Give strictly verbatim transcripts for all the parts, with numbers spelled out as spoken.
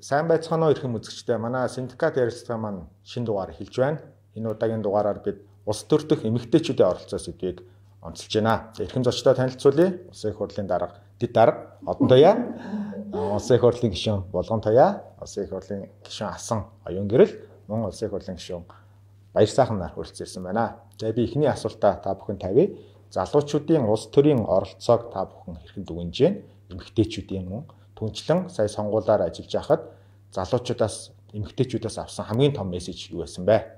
сайн байцгаана уу ирэх үзэгчдээ. Манай синдикат ярилцлага маань шинэ дугаар эхэлж байна. Энэ удаагийн дугаараар бид улс төр дэх эмэгтэйчүүдийн оролцоо сэдвийг онцолж байна. Эрхэм зочдоо танилцуулъя. Улсын их хурлын дарга Дэд дарга Одон Туяа, Улсын их хурлын гишүүн Булган Туяа, Улсын их хурлын гишүүн Асан Оюун Гэрэл, мөн Улсын их хурлын гишүүн Баяр сайхан нар хүрэлцсэн байна. За би эхний асуултаа та бүхэн тавья. Залуучуудын улс төрийн оролцоог та бүхэн хэрхэн дүгнэж байна? Эмэгтэйчүүдийн мөн түнчлэн сая сонгуулиар ажиллаж байхад залуучуудаас эмэгтэйчүүдээс авсан хамгийн том мессеж юу байсан бэ?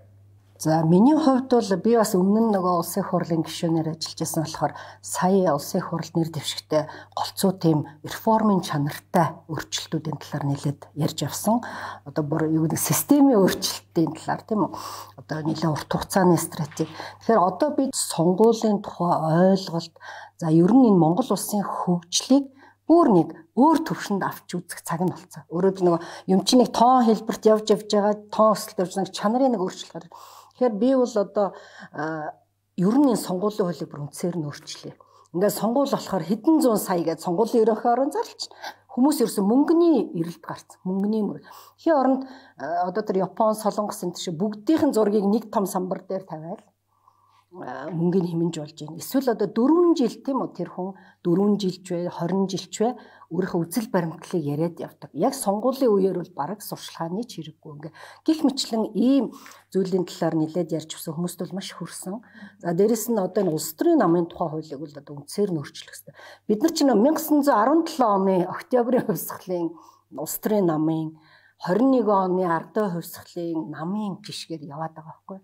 За миний хувьд бол би бас өмнө нь нөгөө улсын их хурлын гишүүнээр ажиллаж байсан болохоор сая улсын их хурл нэр дэвшигтэй голцоо тийм реформын чанартай өөрчлөлтүүдийн талаар нэлээд ярьж авсан. Одоо бүр юу гэдэг системийн өөрчлөлтийн талаар тийм үү? Одоо нэлээд урт хугацааны стратеги. Тэгэхээр одоо бид сонгуулийн тухай ойлголт за ер нь энэ Монгол улсын хөгжлийг бүр нэг өөр төвшөнд авч үзэх цаг нь болцсон. Өөрөөр нөгөө юм чи нэг тоон хэлбэрт явж явж байгаа тоон өсөлт явж байгаа чанарын нэг өөрчлөлт гардаг. Тэгэхээр би бол одоо ер нь энэ сонгуулийн хуулийг бүр үндсээр нь өөрчлөе. Ингээд сонгуул болохоор хэдэн зуун сая гэж сонгуулийн ерөнхий орон зарлч хүмүүс ерөөсөн мөнгөний эрэлт гарцсан. Мөнгөний мөр. Тэгэхээр оронд одоо тэр Япон, Солонгос энэ шиг бүгдийнхэн зургийг нэг том самбар дээр тавиал мөнгөний хэмнэж болж байна. Эсвэл одоо дөрвөн жил тийм үү тэр хүн дөрвөн жилч вэ, хорин жилч вэ өөрийнхөө үзэл баримтлалыг яриад явдаг. Яг сонгуулийн үеэр бол бараг сурчлагын чирэггүй ингээ гих мэтлэн ийм зүйлийн талаар нэлээд ярьж өгсөн хүмүүст бол маш хүрсэн. За дээрэс нь одоо энэ улс төрийн намын тухай хуулийг бол одоо үндсээр нь өөрчлөх хэрэгтэй. Бид нар чинь 천ин дөрвөн оны октябрийн хувьсгалын улс төрийн намын хорин нэгэн оны ардын хувьсгалын намын гишгээр яваад байгаа байхгүй.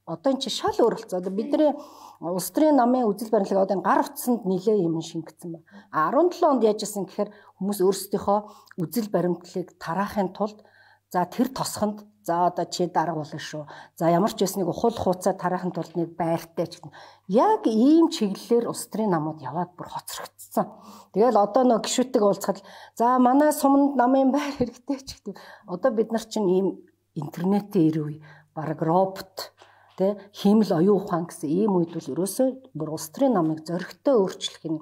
Одоо энэ чи шал өөр болцоо. Бидний улс төрийн намын үзэл баримтлал одоо энэ гар утсанд нэлээ юм шингэсэн байна. дөрвөн онд яаж исэн гэхээр хүмүүс өөрсдийнхөө үзэл баримтлалыг тараахын тулд за тэр тосхонд за одоо чи дарга болно шүү. За ямар ч байсан нэг ухуул хууцаа тараахын тулд нэг байртай ч гэнэ. Яг ийм чиглэлээр улс төрийн намууд яваад бүр хоцрогдсон. Тэгэл одоо нөө гишүүдтэйг уулзахад за манай суманд намын байр хэрэгтэй ч гэдэг. Одоо бид нар чинь ийм интернетийн ир үе бараг робот тэ хиймэл оюун ухаан гэсэн ийм үед бол ерөөсөө бүр улс төрийн намыг зөрөгтэй өөрчлөх нь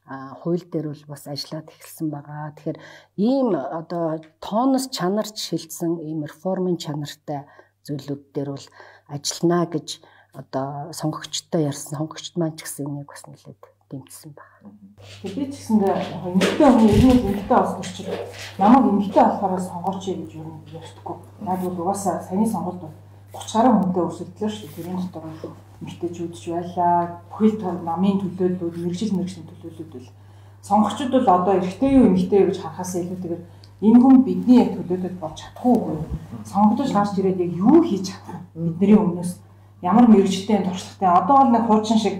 хууль дээр бол бас ажиллаад эхэлсэн байгаа. Тэгэхээр ийм одоо тооноос чанарч шилжсэн ийм реформын чанартай зүйлүүд дээр бол ажиллана гэж одоо сонгогчтой ярьсан. Сонгогчд маань ч гэсэн энийг бас нэлээд дэмжсэн байна. Тэгээд би ч гэсэндээ эмэгтэй хүн ирнэ эмэгтэй олсон чинь намайг эмэгтэй болохоор сонгооч гэж юу юм ярьдаггүй. Яг бол угаасаа саяны сонголт бол гурван гаруй хүнтэй өрсөлдлөө шүү дээ. Тэрийн дотор эмэгтэйчүүд ч байлаа. Бүхэл төр намын төлөөллүүд, мэрэгжил мэрэгжлийн төлөөллүүд бол сонгогчид бол одоо эрэгтэй юу эмэгтэй юу гэж харахаас илүүтэйгээр энэ хүн бидний яг төлөөлөлд болж чадахгүй үгүй. Сонгогдож гарч ирээд яг юу хийж чадах бидний өмнөөс ямар мэрэгжлийн туршлагатай одоо бол нэг хуучин шиг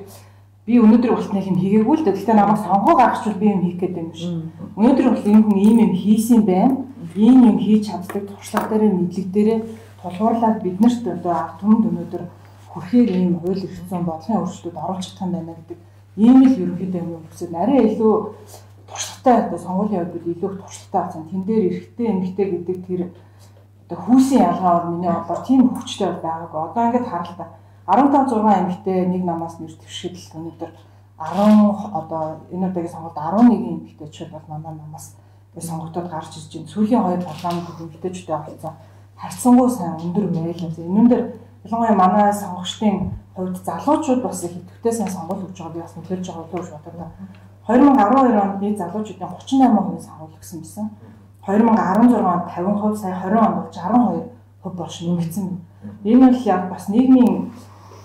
би өнөөдөр болтны юм хийгээгүй л дээ. Гэхдээ намайг сонгоо гаргachвал би юм хийх гэдэг юм биш. Өнөөдөр бол энэ хүн ийм юм хийсэн байна. Ийм юм хийж чаддаг туршлага дээр мэдлэг дээр тулгуурлаад биднэрт одоо ард түмэнд өнөөдөр хүрэхээр ийм хууль эрх зүйн бодлогын өөрчлөлтүүд оруулж чадах юм байна гэдэг ийм л ерөнхийдөө юм хүсэж нарийн илүү туршлагатай одоо сонгуулийн хувьд илүү их туршлагатай болсон. Тэн дээр эрэгтэй эмэгтэй гэдэг тэр одоо хүүсийн ялгаа бол миний бодлоор тийм хүчтэй байгаагүй. Одоо ингээд харалтаа арван таван зургаан эмэгтэй нэг намаас нэр дэвшгэдэл өнөөдөр арван одоо энэ удаагийн сонгуульд арван нэгэн эмэгтэйчүүд бол манай намаас сонгогдоод гарч ирж байна. Сүүлийн хоёр парламент эмэгтэйчүүдтэй оролцсон харьцангуй сайн өндөр байлаа. Энүүн дээр ялангуяа манай сонгогчдын хувьд залуучууд бас их идэвхтэй сайн сонгуул өгж байгааг би бас мэдэрч байгааလို့бодлоо. две тысячи десять онд би залуучуудын тридцать восемь хувийн сонгуул өгсөн байсан. две тысячи шестнадцать онд пятьдесят хувь, сая двадцать онд бол шестьдесят two хувь болж нэмэгдсэн. Энэ бол яг бас нийгмийн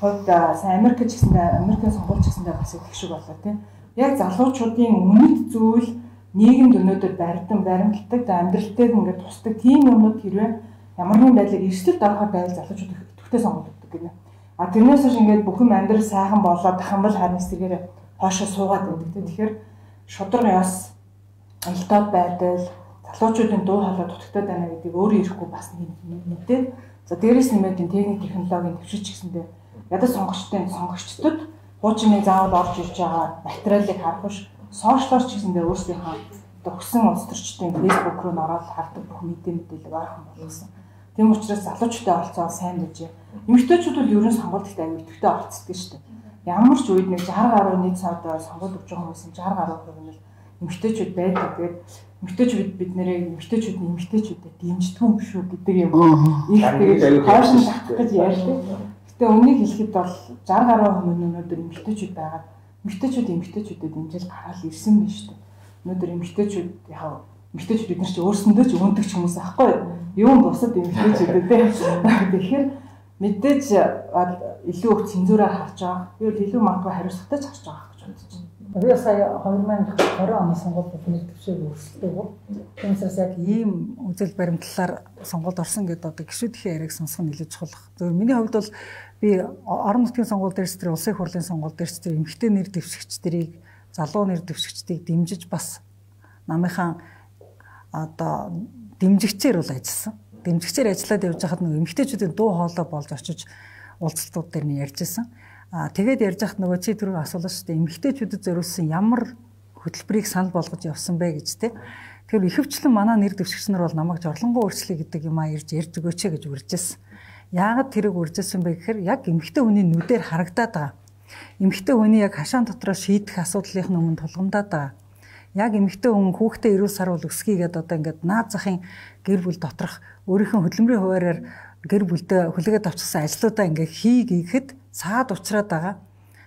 хувьд сайн Америк ч гэсэндээ Америкийн сонгуульч гэсэндээ бас их шиг болоо тийм. Яг залуучуудын үнэт зүйл нийгэмд өнөөдөр баримтан баримталдаг, амьдралтайг ингээд тусдаг тийм юмнууд хэрвээ ямар нэгэн байдлаар эрсдэлд орохоор байвал залуучууд идэвхтэй сонгуул өгдөг гэнэ. А тэрнээс хойш ингээд бүхэн амьдрал сайхан болоод дахин бол харин эсрэгээр хоошоо суугаад байдаг. Тэгэхээр шудраг яс альтаад байдал залуучуудын дуу хоолой дутагтаад байна гэдгийг өөрөө ирэхгүй бас мэдээ. За дээрээс нэмээд энэ техник технологийн төвшиж гисэндээ ядаж сонгогчдын сонгогчдод хуучны заавал орж ирж байгаа материалыг харах биш сошиалч гэсэндээ өөрсдийнхөө өгсөн улс төрчдийн фэйсбүүк руу н ороод хардаг бүх мэдээ мэдээлэл ойрхон болгосон. Тийм учраас залуучуудын оролцоо сайн байжээ. Эмэгтэйчүүд бол ерөн сонгуульд аягүй идэвхтэй оролцдог шүү дээ. Ямар ч үед нэг шестьдесят гаруй нийт савд сонгуул өгж байгаа хүмүүс шестьдесят гаруй хувь нь эмэгтэйчүүд байдаг. Тэгээд эмэгтэйчүүд бид нэрээ эмэгтэйчүүдний эмэгтэйчүүдэд дэмждэг юм шүү гэдэг юм. Их тэгээд хойшин татах гэж ярьдаг. Гэтэ үнийг хэлэхэд бол сixty гаруй хувь өнөөдөр эмэгтэйчүүд байгаа. Эмэгтэйчүүд эмэгтэйчүүдэд дэмжиж гараад ирсэн байна шүү дээ. Өнөөдөр эмэгтэйчүүд яг эмэгтэйчүүд бид нар чи өөрсөндөө ч өгөндөг ч хүмүүс аахгүй юу? Юм бусад эмэгтэйчүүдэд тэгэхээр мэдээж илүү их цензураар харж байгаа. Би бол илүү магадгүй хариуцлагатай ч харж байгаа гэж бодож байна. Би сая two thousand twenty оны сонгуульд нэр дэвшээг өрсөлдөв. Түүнээс яг ийм үзэл баримтлалаар сонгуульд орсон гэдэг одоо гишүүдийн яриаг сонсох нь илүү чухал. Зөвхөн миний хувьд бол би орон нутгийн сонгуул дээрс тэр улсын их хурлын сонгуул дээрс тэр эмэгтэй нэр дэвшигчдэрийг залуу нэр дэвшигчдийг дэмжиж бас намынхаа одоо дэмжигчээр бол ажилласан. Дэмжигчээр ажиллаад явж байхад нөгөө эмэгтэйчүүдийн дуу хоолой болж очиж уулзалтууд дээр нь ярьж байсан. Аа тэгээд ярьж байхад нөгөө чи түрүү асуулаа шүү дээ. Эмэгтэйчүүдэд зориулсан ямар хөтөлбөрийг санал болгож явсан бэ гэж те. Тэгэхээр ихэвчлэн манай нэр дэвшигч нар бол намайг жорлонгоо өөрчлөе гэдэг юм а ирж ярьж өгөөч гэж урьжсэн. Яагаад тэрийг урьжсэн бэ гэхээр яг эмэгтэй хүний нүдээр харагдаад байгаа. Эмэгтэй хүний яг хашаан дотроо шийдэх асуудлынх нь өмнө тулгамдаад байгаа. Яг эмэгтэй хүн хүүхдээ эрүүл сарвал өсгийгээд одоо ингээд наад захын гэр бүл доторх өөрийнхөө хөдөлмөрийн хуваараар гэр бүлдээ хүлээгээд авчихсан ажлуудаа ингээд хий гэхэд цаад уучраад байгаа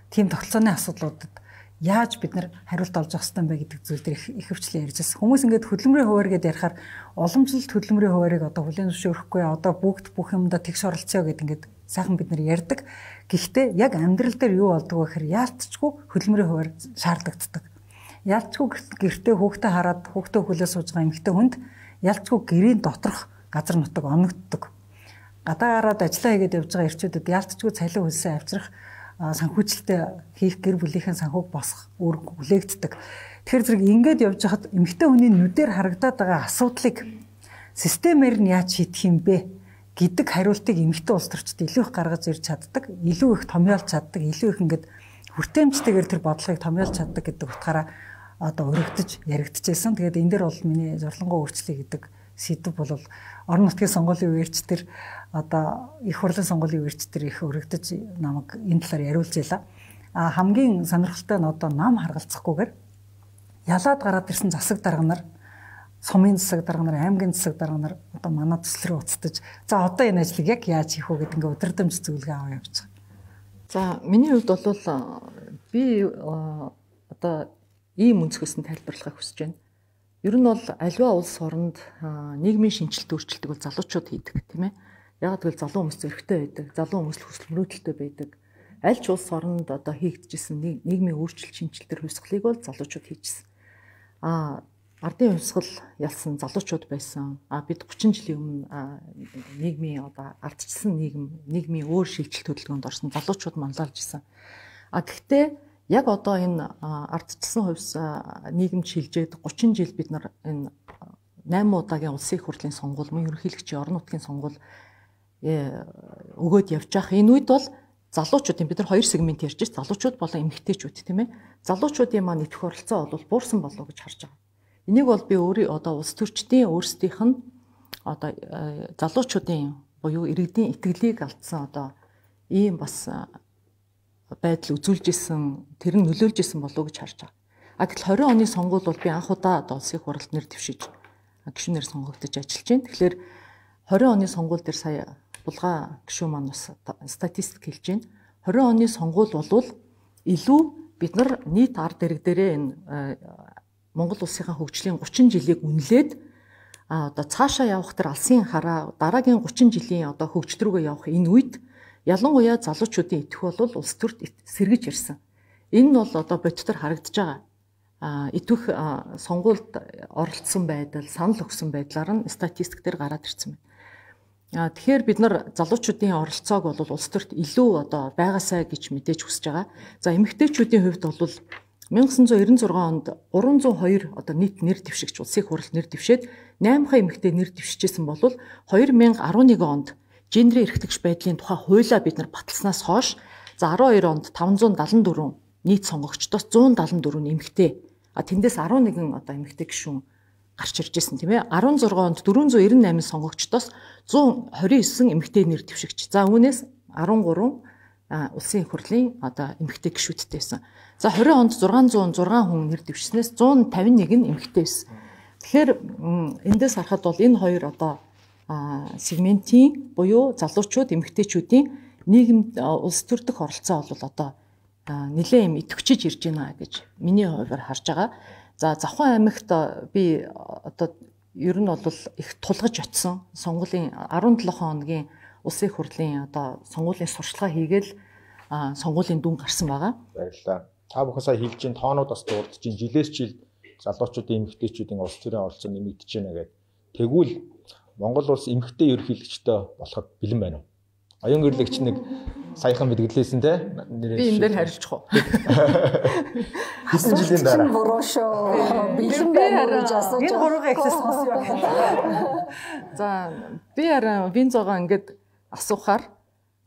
тийм тогтолцооны асуудлуудад яаж бид нар хариулт олж авах ёстой юм бэ гэдэг зүйл дээр их хвчлэн ярьж байсан. Хүмүүс ингээд хөдөлмөрийн хуваар гэдээ ярихаар уламжлалт хөдөлмөрийн хуваарийг одоо хүлээн зөвшөөрөхгүй одоо бүгд бүх юмдаа тэгш оролцъё гэдэг ингээд сайхан бид нар ярьдаг. Гэхдээ яг амьдрал дээр юу болдог вэ гэхээр яалтчгүй хөдөлмөрийн хуваар шаардлагаддаг. Ялцгүй гэртээ хүүхдээ хараад хүүхдээ хүлээ сууж байгаа эмэгтэй хүнд ялцгүй гэрийн доторх газар нутаг оногддог. Гадаа гараад ажиллаа хийгээд явж байгаа эрчүүдэд ялцгүй цалин хөлсөө авчрах санхүүжилтээ хийх гэр бүлийнхэн санхүүг босгох үүрэг хүлээгддэг. Тэгэхээр зэрэг ингээд явж хахад эмэгтэй хүний нүдээр харагдаад байгаа асуудлыг системээр нь яаж шийдэх юм бэ гэдэг хариултыг эмэгтэй улс төрчид илүү их гаргаж ирж чаддаг, илүү их томьёолж чаддаг, илүү их ингээд хүртээмжтэйгээр тэр бодлогыг томьёолж чаддаг гэдэг утгаараа одоо өргөдөж яригдчихсэн. Тэгээд энэ дээр бол миний зорлонгоо өөрчлөе гэдэг сэдв бол орон нутгийн сонгуулийн үеэрч тэр одоо их хурлын сонгуулийн үеэрч тэр их өргөдөж намайг энэ талаар яриулж байла. А хамгийн сонирхолтой нь одоо нам харгалзахгүйгээр ялаад гараад ирсэн засаг дарга нар, сумын засаг дарга нар, аймгийн засаг дарга нар одоо манай төсөл рүү уцтаж за одоо энэ ажлыг яг яаж хийх вэ гэдэг ингээ удирдамж зөвлөгөө аваа явж байгаа. За миний хувьд бол би одоо ийм өнцгөөс нь тайлбарлахыг хүсэж байна. Ер нь бол аливаа улс оронд нийгмийн шинжилт өөрчлөлтийг бол залуучууд хийдэг тийм ээ. Яг тэгвэл залуу хүмүүс зөрөгтэй байдаг, залуу хүмүүс хүсэл мөрөөдөлтэй байдаг. Аль ч улс оронд одоо хийгдчихсэн нийгмийн өөрчлөлт шинжилтээр хувьсгалыг бол залуучууд хийжсэн. Аа ардын хувьсгал ялсан залуучууд байсан. Аа бид thirty жилийн өмнө нийгмийн одоо ардчилсан нийгэм, нийгмийн өөр шилжилт хөдөлгөөнд орсон залуучууд манлайлж исэн. А гэхдээ яг одоо энэ ардчилсан хувьс нийгэмд шилжээд thirty жил бид нар энэ eight удаагийн улсын их хурлын сонгуул, мөн ерөнхийлөгчийн орон нутгийн сонгуул өгөөд явж байгаа. Энэ үед бол залуучуудын бид нар хоёр сегмент ярьж байна. Залуучууд болон эмэгтэйчүүд тийм ээ. Залуучуудын маань идэвх оролцоо бол буурсан болов гэж харж байгаа. Энийг бол би өөрөө одоо улс төрчдийн өөрсдийнх нь одоо залуучуудын буюу иргэдийн итгэлийг алдсан одоо ийм бас байдал үзүүлж исэн, тэр нь нөлөөлж исэн болов гэж харж байгаа. А тэгэхээр twenty оны сонгуул бол би анх удаа одоо улсын их хурлд нэр дэвшиж гишүүнээр сонгогдож ажиллаж байна. Тэгэхээр twenty оны сонгуул дээр сая булгаа гишүүн маань бас статистик хэлж байна. twenty оны сонгуул болвол илүү бид нар нийт ард ирэг дээрээ энэ Монгол улсынхаа хөгжлийн thirty жилийг үнэлээд а одоо цаашаа явах тэр алсын хараа дараагийн thirty жилийн одоо хөгжил рүүгээ явах энэ үед ялангуяа залуучуудын итгэх бол улс төрт сэргэж ирсэн. Энэ нь бол одоо бодитоор харагдаж байгаа. А итгэх сонгуульд оролцсон байдал, санал өгсөн байдлаар нь статистик дээр гараад ирсэн байна. А тэгэхээр бид нар залуучуудын оролцоог бол улс төрт илүү одоо байгаасай гэж мэдээж хүсэж байгаа. За эмэгтэйчүүдийн хувьд бол nineteen ninety-six онд three oh two одоо нийт нэр дэвшигч улсын хурал нэр дэвшээд eight хаа эмэгтэй нэр дэвшижсэн бол twenty eleven онд гендерийн эрхтгч байдлын тухай хуулиа бид нар баталснаас хойш за twelve онд five seventy-four нийт сонгогчдоос one seventy-four нь эмэгтэй. А тэндээс eleven одоо эмэгтэй гишүүн гарч ирж байсан тийм ээ. sixteen онд four ninety-eight сонгогчдоос one twenty-nine эмэгтэй нэр дэвшигч. За үүнээс thirteen улсын их хурлын одоо эмэгтэй гишүүдтэй байсан. За двадцать онд зургаан зуун зургаан хүн нэр дэвшснээс one fifty-one нь эмэгтэй байсан. Тэгэхээр эндээс харахад бол энэ хоёр одоо сегментийн буюу залуучууд эмэгтэйчүүдийн нийгэмд улс төр дэх оролцоо бол одоо нэлээд юм идэвхжиж ирж байна гэж миний хувьд харж байгаа. За Завхан аймагт би одоо ер нь бол их тулгаж очсон сонгуулийн seventeen хоногийн улсын их хурлын одоо сонгуулийн сурчлага хийгээл сонгуулийн дүн гарсан байгаа. Баярлалаа. Та бүхэн сая хэлж ин тоонууд бас дурдж ин жилээс жил залуучуудын эмэгтэйчүүдийн улс төрийн оролцоо нэмэгдэж байна гэдэг. Тэгвэл Монгол улс эмэгтэй ерөнхийлөгчтэй болоход бэлэн байна уу? Оюун гэрлэгч нэг саяхан мэдгэлээсэн те би энэ дээр харилчих уу? Хэдэн жилийн дараа буруу шүү. Бэлэн байна гэж асууж энэ гурван ихлэс сонсё. За би хараа Винзогоо ингээд асуухаар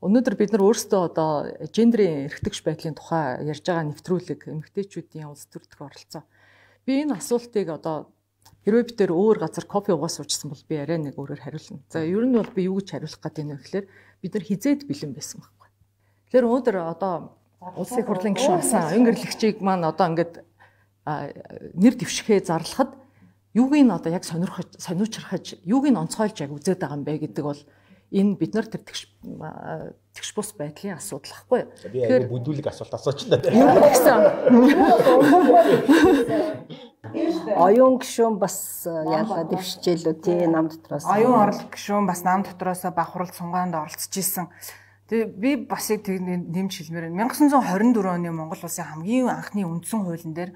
өнөөдөр бид нар өөрсдөө одоо гендрийн эрхтгч байдлын тухай ярьж байгаа нэвтрүүлэг эмэгтэйчүүдийн улс төр дэх оролцоо. Би энэ асуултыг одоо хэрвээ бид тээр өөр газар кофе уугаас уучсан бол би арай нэг өөрөөр хариулна. За ер нь бол би юу гэж хариулах гэдэг нь вэ гэхээр бид нар хизээд бэлэн байсан байхгүй. Тэгэхээр өнөөдөр одоо улсын их хурлын гишүүн асан оюун гэрлэгчийг маань одоо ингээд нэр дэвшихээ зарлахад юуг нь одоо яг сонирхож сониучрахаж юуг нь онцгойлж яг үзээд байгаа юм бэ гэдэг бол энэ бид нар тэр тэгш тэгш бус байдлын асуудал ахгүй. Тэгэхээр бүдүүлэг асуулт асууч та. Оюун гишүүн бас яалаа дэвшижээлүү тий нам дотроос. Оюун орол гишүүн бас нам дотроос бахурал цунгаанд оролцож исэн. Тэгээ би бас яг нэмж хэлмээр байна. nineteen twenty-four оны Монгол улсын хамгийн анхны үндсэн хуулийн дээр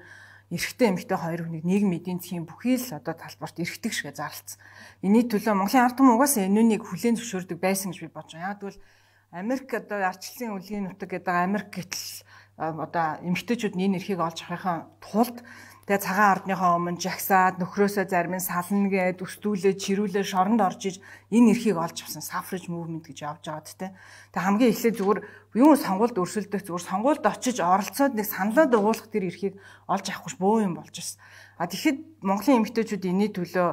эрэгтэй эмэгтэй хоёр хүнийг нийгмийн эдийн засгийн бүхий л одоо талбарт эрхтэг шигэ зарлцсан. Энэний төлөө Монголын ард түмэн угаасаа энүүнийг хүлээн зөвшөөрдөг байсан гэж би бодож байна. Яг тэгвэл Америк одоо арчлалын үлгийн нутаг гэдэг Америк гэтэл одоо эмэгтэйчүүд энэ эрхийг олж авахын тулд тэгээ цагаан ардныхоо өмнө жагсаад нөхрөөсөө зарим нь сална гэд өстүүлээ чирүүлээ шоронд орж иж энэ эрхийг олж авсан suffrage movement гэж явж байгаа тэ. Тэгээ хамгийн эхлээд зүгээр юу сонгуульд өрсөлдөх зүгээр сонгуульд очиж оролцоод нэг саналаа дуулах тэр эрхийг олж авахгүй бөө юм болж байна. А тэгэхэд Монголын эмэгтэйчүүд энэний төлөө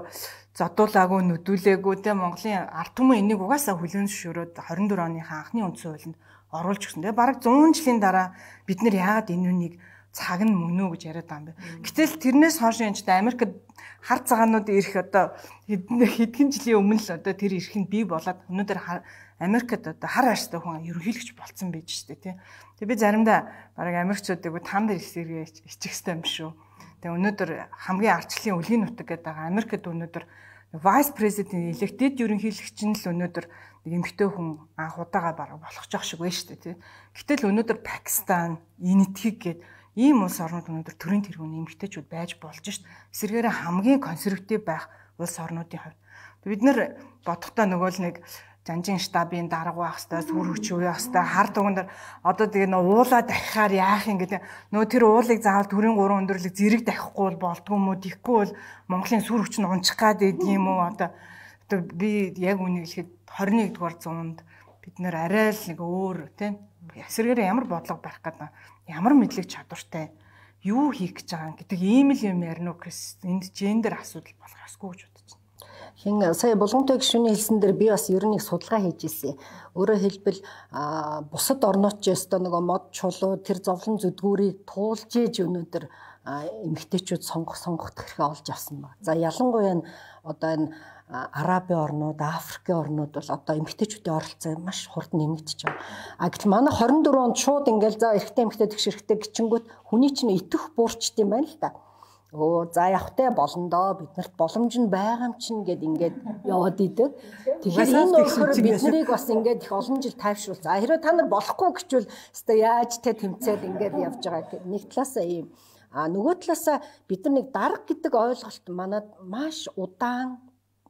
зодуулаагүй нүдүүлээгүй тэ Монголын ард түмэн энийг угаасаа хүлээн зөвшөөрөөд twenty-four оныхаа анхны үндсэн хуулинд оруулж өгсөн. Тэгээ бараг one hundred жилийн дараа бид нэр яагаад энэ үнийг цаг нь мөн үү гэж яриад байгаа юм бэ. Гэтэл тэрнээс хойш энэ ч Америкт хар цагаанууд ирэх одоо хэдхэн жилийн өмнө л одоо тэр эрх нь бий болоод өнөөдөр Америкт одоо хар арьстай хүн ерөнхийлөгч болцсон байж штэ тий. Тэгээ би заримдаа бараг Америкчуудыг танд ирсэргээ ичих хэвтэй юм шүү. Тэгээ өнөөдөр хамгийн арчлалын үлгийн нутаг гэдэг байгаа Америкт өнөөдөр vice president elected ерөнхийлөгч нь л өнөөдөр нэг эмэгтэй хүн анх удаага бараг болох жоох шиг байна штэ тий. Гэтэл өнөөдөр Пакистан, Индийг гээд ийм улс орнууд өнөөдөр төрийн тэргүүний эмэгтэйчүүд байж болж шít. Эсвэргээрээ хамгийн консерватив байх улс орнуудын хувьд бид нэр бодохдоо нөгөө л нэг жанжин штабын дарга байх хэвээр сүр хүч үе байх хэвээр хар туган дээр одоо тэгээ нөө уулаа дахихаар яах юм гэдэг нөө тэр уулыг заавал төрийн гурван өндөрлөг зэрэг дахихгүй бол болдгоо юм уу тийхгүй бол Монголын сүр хүч нь унчих гад идэг юм уу одоо би яг үнийг хэлэхэд twenty-one дугаар зуунд бид нэр арай л нэг өөр тийм эсвэргээрээ ямар бодлого барих гэдэг ямар мэдлэг чадвартай юу хийх гэж байгаа гэдэг ийм л юм ярина уу гэс энд гендер асуудал болох ёсгүй гэж бодож байна. Хин сая Булгантай гишүүний хэлсэн дээр би бас ер нь их судалгаа хийж ирсэн. Өөрөөр хэлбэл бусад орнууд ч ёстой нөгөө мод чулуу тэр зовлон зүдгүүрийг туулж ээж өнөөдөр эмэгтэйчүүд сонгох сонгох хэрэг олж авсан ба. За ялангуяа одоо энэ Арабын орнууд, Африкийн орнууд бол одоо эмэгтэйчүүдийн оролцоо маш хурд нэмэгдэж байгаа. А гэтэл манай twenty-four онд шууд ингээл за эрэгтэй эмэгтэй тэгш эрэгтэй гिचингүүд хүний чинь итэх буурчт юм байна л та. Оо за явахтай болно доо биднэрт боломж нь байгаа юм чинь гэд ингээд яваад идэг. Тэгэхээр энэ болохоор бид нарыг бас ингээд их олон жил тайвшруул. За хэрвээ та нар болохгүй гэчвэл өстой яаж те тэмцээд ингээд явж байгаа. Нэг талаасаа ийм. А нөгөө талаасаа бид нар нэг дарга гэдэг ойлголт манад маш удаан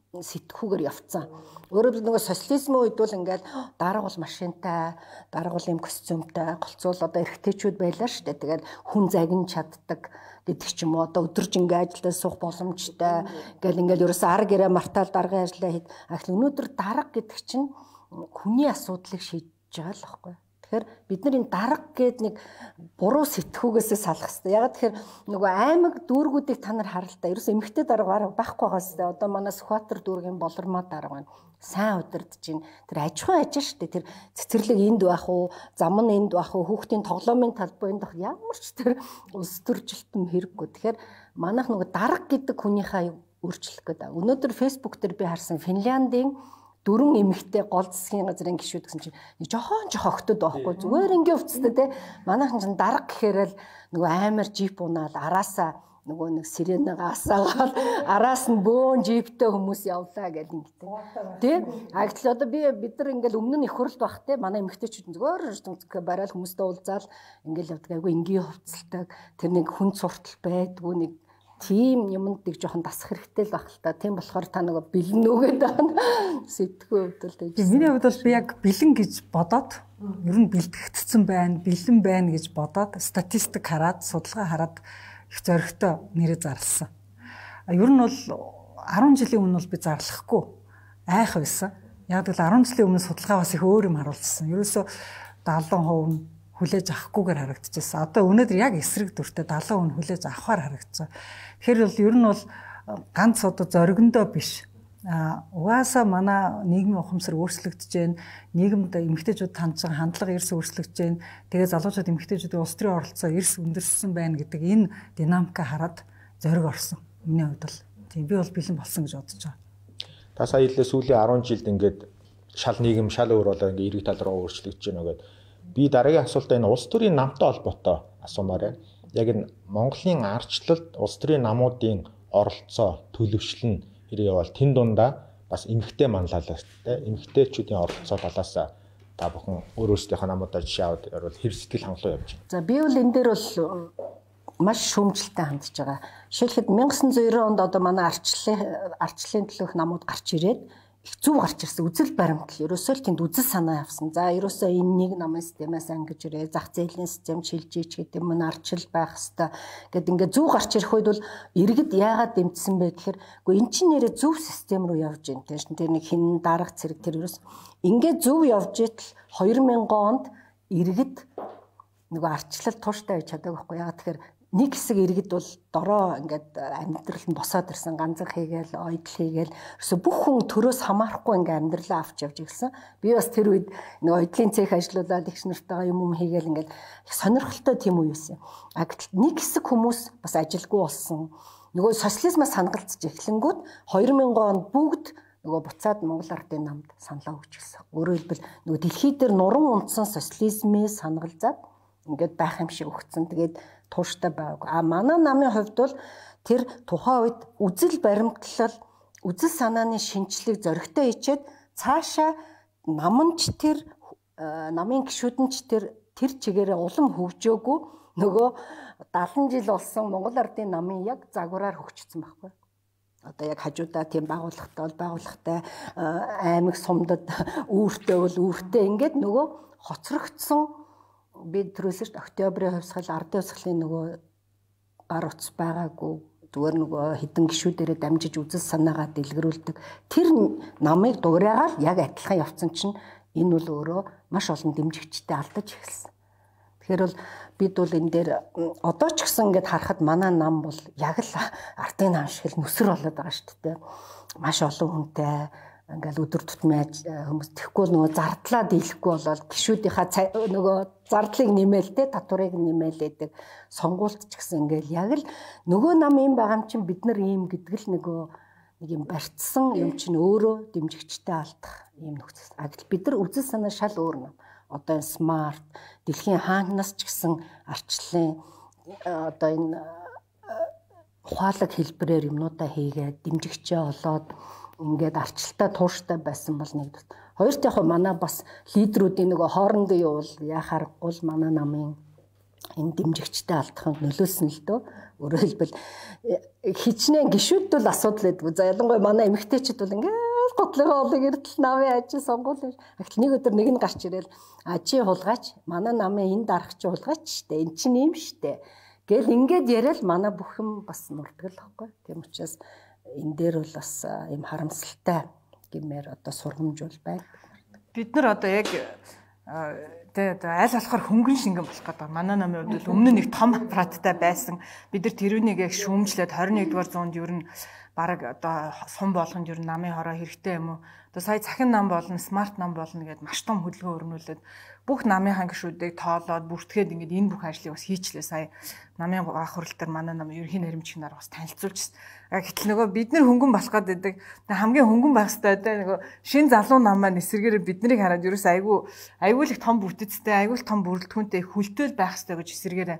сэтгүүгээр явцсан. Өөрөөр хэлбэл нөгөө социализмын үед бол ингээд дарга бол машинтай, дарга бол юм костюмтай, голцуул одоо эрэгтэйчүүд байлаа шүү дээ. Тэгээд хүн загин чаддаг гэдэг ч юм уу одоо өдөржингөө ажилдаа суух боломжтой гэл ингээд ерөөсөө арга гэрээ мартаал даргын ажиллаа хэд. Ахил өнөөдөр дарга гэдэг чинь хүний асуудлыг шийдэж байгаа л байхгүй. Тэгэхээр бид нар энэ дарга гээд нэг буруу сэтгүүгээсээ салах хэрэгтэй. Ягаад тэгэхээр нөгөө аймаг дүүргүүдийг та нар хараа л да. Ерөөс эмэгтэй дарга байхгүй байгаас тэ. Одоо манай Сүхбаатар дүүргийн болормоо дарга байна. Сайн удирдах чинь тэр аж ахуй ажил шүү дээ. Тэр цэцэрлэг энд байх уу, зам нь энд байх уу, хүүхдийн тоглоомын талбай энд байх ямар ч тэр улс төржилтөм хэрэггүй. Тэгэхээр манайх нөгөө дарга гэдэг хүнийхээ өөрчлөх гэдэг. Өнөөдөр фэйсбુક дээр би харсан Финляндийн дөрвөн эмэгтэй гол засгийн газрын гишүүд гэсэн чинь жохон жохон охтод байхгүй зүгээр ингээ өвцтэй те манайхан чинь дарга гэхээр л нөгөө амар жип унаал араасаа нөгөө нэг сиренега асаагаад араас нь бөөн жиптэй хүмүүс явлаа гэл ингэдэг тий а гэтэл одоо би бид нар ингээл өмнө нь их хурлд байх те манай эмэгтэйчүүд зүгээр барайл хүмүүстэй уулзаал ингээл явдаг айгу энгийн хувцалдаг тэр нэг хүн суртал байдгүй нэг тийм юмд нэг жоохон дасах хэрэгтэй л байх л та. Тийм болохоор та нөгөө бэлэн нүгээд байна. Сэтгүү хувьд л тийм. Миний хувьд бол би яг бэлэн гэж бодоод ер нь бэлтгэгдсэн байна, бэлэн байна гэж бодоод статистик хараад, судалгаа хараад их зоригтой нэрээ зарласан. А ер нь бол арван жилийн өмнө бол би зарлахгүй айх байсан. Яг л арван жилийн өмнө судалгаа бас их өөр юм харуулсан. Ерөөсө дагалдаа хувь нь хүлээж авахгүйгээр харагдчихсан. Одоо өнөөдөр яг эсрэг дүртэй дагалан хүн хүлээж авахаар харагдсан. Тэгэхээр бол ер нь бол ганц одоо зоригндоо биш. А угаасаа манай нийгмийн ухамсар өөрчлөгдөж байна. Нийгэмд эмэгтэйчүүд хандж байгаа хандлага эрс өөрчлөгдөж байна. Тэгээ залуучууд эмэгтэйчүүдийн улс төрийн оролцоо эрс өндөрсөн байна гэдэг энэ динамика хараад зориг орсон. Миний хувьд бол тийм би бол бэлэн болсон гэж бодож байгаа. Та сая хэлээ сүүлийн арван жилд ингээд шал нийгэм шал өөр болоо ингээд эрэг тал руу өөрчлөгдөж байна гэдэг. Би дараагийн асуултаа энэ улс төрийн намтай холбоотой асуумаар байна. Яг энэ Монголын арчлалд улс төрийн намуудын оролцоо, төлөвшлөл нь хэрэг явал тэн дундаа бас эмэгтэй манлайлалт те эмэгтэйчүүдийн оролцоо талаас та бүхэн өөр өөрсдийнхөө намуудаа жишээ аваад ярил хэр сэтгэл хангалуун явж байна. За би бол энэ дээр бол маш шүүмжлэлтэй хандж байгаа. Жишээлхэд 천ix нэр девяносто онд одоо манай арчлалын арчлалын төлөөх намууд гарч ирээд их зүв гарч ирсэн үзэл баримтал ерөөсөө л тэнд үзэл санаа явсан. За ерөөсөө энэ нэг намын системээс ангиж ирээ зах зээлийн систем шилжиж гэдэг юм арчил байх хэвээр гэд ингээд зүв гарч ирэх үед бол иргэд яагаад дэмжсэн бэ гэхээр үгүй эн чинь нэрээ зүв систем рүү явж байна. Тэр нэг хин дарга цэрэг тэр ерөөс ингээд зүв явж итэл две тысячи онд иргэд нөгөө арчлал тууштай байж чадаагүй байхгүй яагаад тэгэхээр нэг хэсэг иргэд бол дороо ингээд амьдрал нь босоод ирсэн ганцхан хийгээл ойдл хийгээл ерөөсө бүх хүн төрөөс хамаарахгүй ингээд амьдралаа авч явж ирсэн. Би бас тэр үед нэг ойдлын цех ажиллаулаад их нартайгаа юм юм хийгээл ингээд их сонирхолтой тийм үе байсан. А гэтэл нэг хэсэг хүмүүс бас ажилгүй болсон. Нөгөө социализмаас хангалцж эхлэнгүүт две тысячи онд бүгд нөгөө буцаад Монгол Ардын намд саналаа өгч гисэн. Өөрөөр хэлбэл нөгөө дэлхий дээр нуран унтсан социализмээс хангалзаад ингээд байх юм шиг өгцөн. Тэгээд тууштай байгааг. А манай намын хувьд бол тэр тухайн үед үзэл баримтлал, үзэл санааны шинжлэх зоригтой хийчээд цаашаа наманч тэр намын гишүүдэн ч тэр тэр чигээрээ улам хөгжөөгүй нөгөө дагалан жил болсон Монгол Ардын намын яг загвараар хөгжсөн байхгүй. Одоо яг хажуудаа тийм байгууллагатай бол байгууллагатай аймаг сумдад үүртэй бол үүртэй ингээд нөгөө хоцрогдсон би түрүүсэж октябрийн хувьсгал ардын хувьсгалын нөгөө гар утас байгаагүй зүгээр нөгөө хідэн гишүүдэрээ дамжиж үзэл санаагаа дэлгэрүүлдэг тэр намыг дуурайгаал яг адилхан явцсан чинь энэ бол өөрөө маш олон дэмжигчтэй алдаж эхэлсэн. Тэгэхээр бол бид бол энэ дээр одоо ч гэсэн ингээд харахад манай нам бол яг л ардын нам шиг л нүсэр болоод байгаа шүү дээ. Маш олон хүнтэй ингээл өдөр тутмын хүмүүс тэхгүй нөгөө зардлаа дийлэхгүй болол гişүүдийнхаа нөгөө зардлыг нэмээл те татварыг нэмээлээдэг сонгуульт ч гэсэн ингээл яг л нөгөө нам юм байгаа юм чинь бид нар ийм гэдэг л нөгөө нэг юм барьцсан юм чинь өөрөө дэмжигчтэй алдах ийм нөхцөл. А гэтэл бид нар үзэл санаа шал өөр нам. Одоо энэ смарт дэлхийн хаанаас ч гэсэн арчлалын одоо энэ ухаалаг хэлбэрээр юмнуудаа хийгээд дэмжигчээ олоод ингээд арчлалтаа тууштай байсан бол нэг. Хоёрт яг манай бас лидерүүдийн нөгөө хоорондоо явуул яхааргүй л манай намын энэ дэмжигчтэй алдаханд нөлөөлсөн л дөө. Өөрөөр хэлбэл хичнээн гişүүд бол асуудал байдгүй. За ялангуяа манай эмэгтэйчүүд бол ингээд готлогоо олог эрдэл намын ажил сонгуул. Гэтэл нэг өдөр нэг нь гарч ирээл а чи хулгайч манай намын энэ дарагч хулгайч штэ. Эн чинь юм штэ. Гэл ингээд яриад манай бүх юм бас мурдаг л байхгүй. Тийм учраас энэ дээр бол бас юм харамсалтай гэмээр одоо сургамж бол байна. Бид нар одоо яг Тэ одоо аль болохоор хөнгөн шингэн болох гэдэг. Манай намын хувьд бол өмнө нэг том аппараттай байсан. Бид нар тэрүүнийг яг шүүмжлээд двадцать нэгдүгээр зуунд ер нь бараг одоо сум болгонд ер нь намын хороо хэрэгтэй юм уу? Одоо сая цахин нам болно, смарт нам болно гэдээ маш том хөдөлгөөн өрнүүлээд бүх намынхаа гишүүдийг тоолоод бүртгээд ингээд энэ бүх ажлыг бас хийчлээ. Сая намын ах хурал дээр манай нам ерөнхий наримчиг нар бас танилцуулчихсан. Гэтэл нөгөө бид нар хөнгөн болох гэдэг хамгийн хөнгөн байх хэрэгтэй одоо нөгөө шин залуу нам маань эсэргээр биднийг хараад ерөөс айгүй айгүй л их том бүтэцтэй, айгүй л том бүрэлдэхүүнтэй хүлтэл байх хэрэгтэй гэж эсэргээр